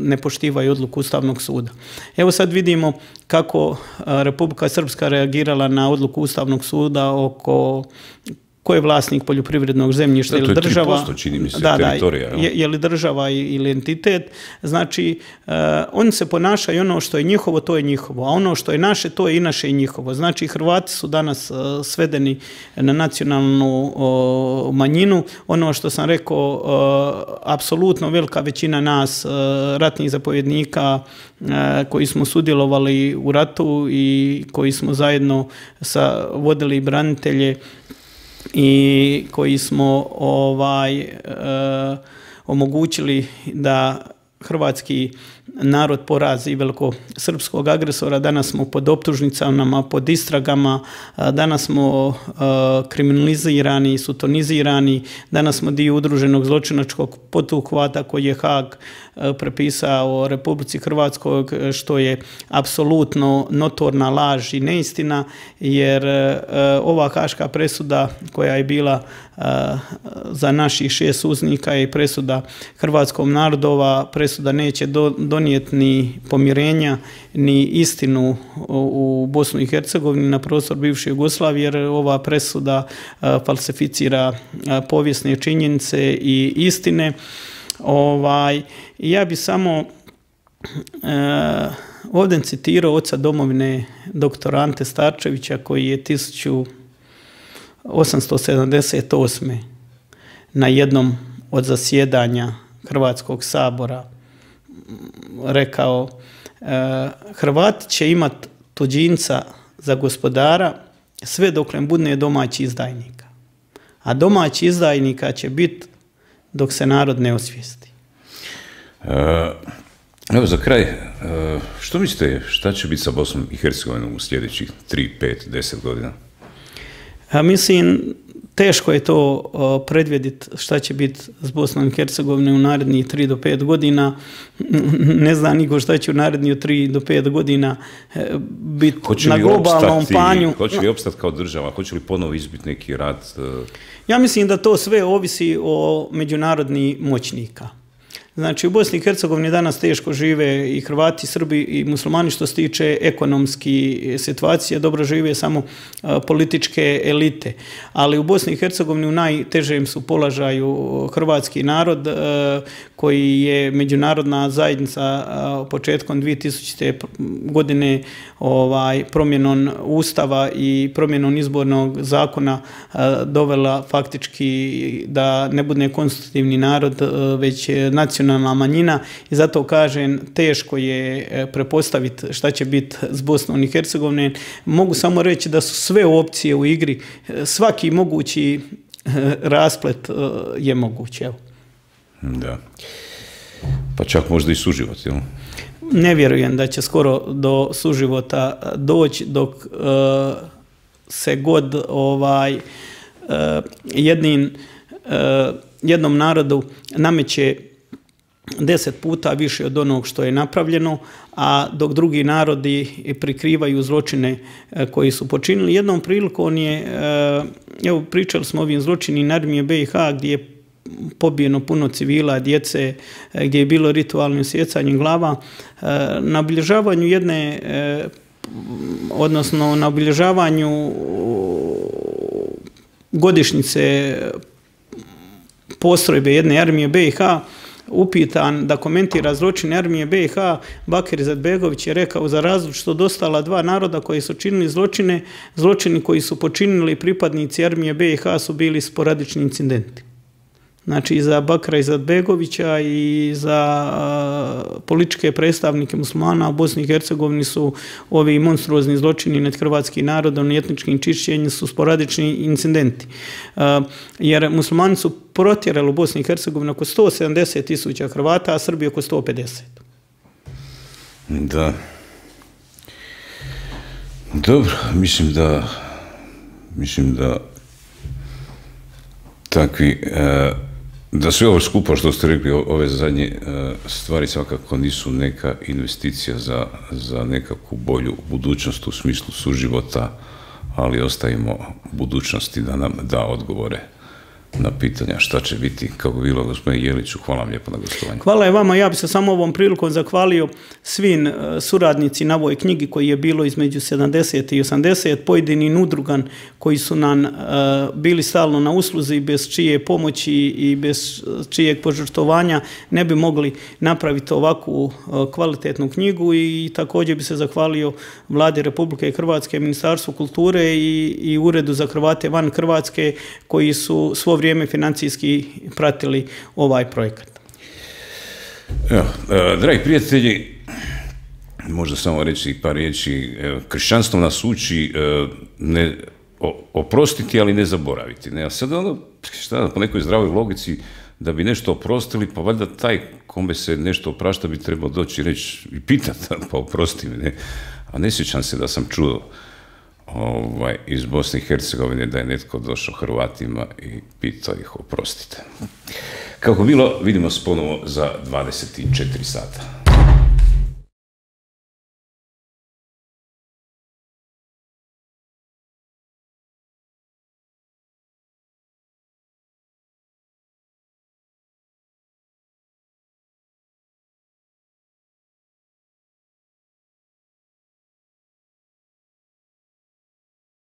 ne poštivaju odluku Ustavnog suda. Evo sad vidimo kako Republika Srpska reagirala na odluku Ustavnog suda oko ko je vlasnik poljoprivrednog zemljišta ili država. To je tri posto, čini mi se, teritorija. Je, je li država ili entitet. Znači, uh, oni se ponašaju, ono što je njihovo, to je njihovo, a ono što je naše, to je i naše i njihovo. Znači, Hrvati su danas uh, svedeni na nacionalnu uh, manjinu. Ono što sam rekao, uh, apsolutno velika većina nas, uh, ratnih zapovjednika, uh, koji smo sudjelovali u ratu i koji smo zajedno sa, vodili branitelje i koji smo ovaj e, omogućili da hrvatski narod porazi velikosrpskog agresora. Danas smo pod optužnicama, pod istragama, danas smo e, kriminalizirani, sutonizirani, danas smo dio udruženog zločinačkog poduhvata koji je Haag e, prepisao Republici Hrvatskoj, što je apsolutno notorna laž i neistina, jer e, ova haška presuda koja je bila e, za naših šest uznika je presuda hrvatskom narodova, presuda neće do, donijeti ni pomirenja, ni istinu u Bosnu i Hercegovini na prostor bivše Jugoslavije, jer ova presuda falsificira povijesne činjenice i istine. Ovaj, ja bi samo e, ovdje citirao oca domovine doktora Ante Starčevića, koji je tisuću osamsto sedamdeset osme na jednom od zasjedanja Hrvatskog sabora rekao, Hrvati će imati tuđinca za gospodara sve dok ne bude domaći izdajnika. A domaći izdajnika će biti dok se narod ne osvijesti. E, evo za kraj, e, što mislite šta će biti sa Bosnom i Hercegovinom u sljedećih tri, pet, deset godina? A mislim, teško je to uh, predvidjeti šta će biti s Bosnom i Hercegovinom u narednih tri do pet godina. Ne zna niko šta će u narednih tri do pet godina uh, biti na globalnom opstati, panju. Hoće li opstati kao država? Hoće li ponovo izbiti neki rat? Uh... Ja mislim da to sve ovisi o međunarodnih moćnika. Znači, u Bosni i Hercegovini danas teško žive i Hrvati, Srbi i muslimani što se tiče ekonomski situacije, dobro žive samo a, političke elite. Ali u Bosni i Hercegovini u najtežem su položaju hrvatski narod a, koji je međunarodna zajednica a, početkom dvije tisućite. godine ovaj, promjenom Ustava i promjenom izbornog zakona a, dovela faktički da ne bude konstitutivni narod, a, već nacionalni manjina, i zato kažem, teško je prepostaviti šta će biti s Bosnom i Hercegovinom. Mogu samo reći da su sve opcije u igri, svaki mogući rasplet je moguć. Evo. Da. Pa čak možda i suživot, jel? Ne vjerujem da će skoro do suživota doći, dok uh, se god ovaj uh, jednim, uh, jednom narodu nameće deset puta više od onog što je napravljeno, a dok drugi narodi prikrivaju zločine koji su počinili. Jednom prilikom je, evo pričali smo o ovim zločinima armije be i ha, gdje je pobijeno puno civila, djece, gdje je bilo ritualno sjecanje glava. Na obilježavanju jedne, odnosno na obilježavanju godišnjice postrojbe jedne armije be i ha, upitan da komentira zločine armije be i ha, Bakir Izetbegović je rekao, za različito od ostala dva naroda koji su činili zločine, zločini koji su počinili pripadnici armije be i ha su bili sporadični incidenti. znači za Bakra Izetbegovića i za političke predstavnike muslimana u Bosni i Hercegovini su ovi monstruozni zločini nad hrvatskim narodom i etničkim čišćenjem su sporadični incidenti. Jer muslimani su protjerali u Bosni i Hercegovini oko sto sedamdeset tisuća Hrvata, a Srbi oko sto pedeset. Da. Dobro, mislim da mislim da takvi da sve ovo skupo što ste rekli, ove zadnje stvari svakako nisu neka investicija za, za nekakvu bolju budućnost u smislu suživota, ali ostavimo budućnosti da nam da odgovore na pitanja šta će biti, kako bilo. Gospodine Jeliću, hvala vam lijepo na gostovanju. Hvala i vama, ja bih se samo ovom prilikom zahvalio svim suradnici na ovoj knjigi koji je bilo između sedamdeset i osamdeset, pojedinim udrugan koji su nam bili stalno na usluzi, bez čije pomoći i bez čijeg požrtvovanja ne bi mogli napraviti ovakvu kvalitetnu knjigu, i također bi se zahvalio Vladi Republike Hrvatske, Ministarstvu kulture i, i Uredu za Hrvate van Hrvatske koji su svo vrijeme financijski pratili ovaj projekat. Evo, dragi prijatelji, možda samo reći par riječi. Kršćanstvo nas uči ne oprostiti, ali ne zaboraviti. Ne, a sad ono, šta, po nekoj zdravoj logici, da bi nešto oprostili, pa valjda taj kome se nešto oprašta bi trebao doći i reći i pitati, pa oprosti mi, ne? A ne sjećam se da sam čuo Ovaj, iz Bosne i Hercegovine da je netko došao Hrvatima i pitao ih oprostite. Kako bilo, vidimo se ponovo za dvadeset četiri sata.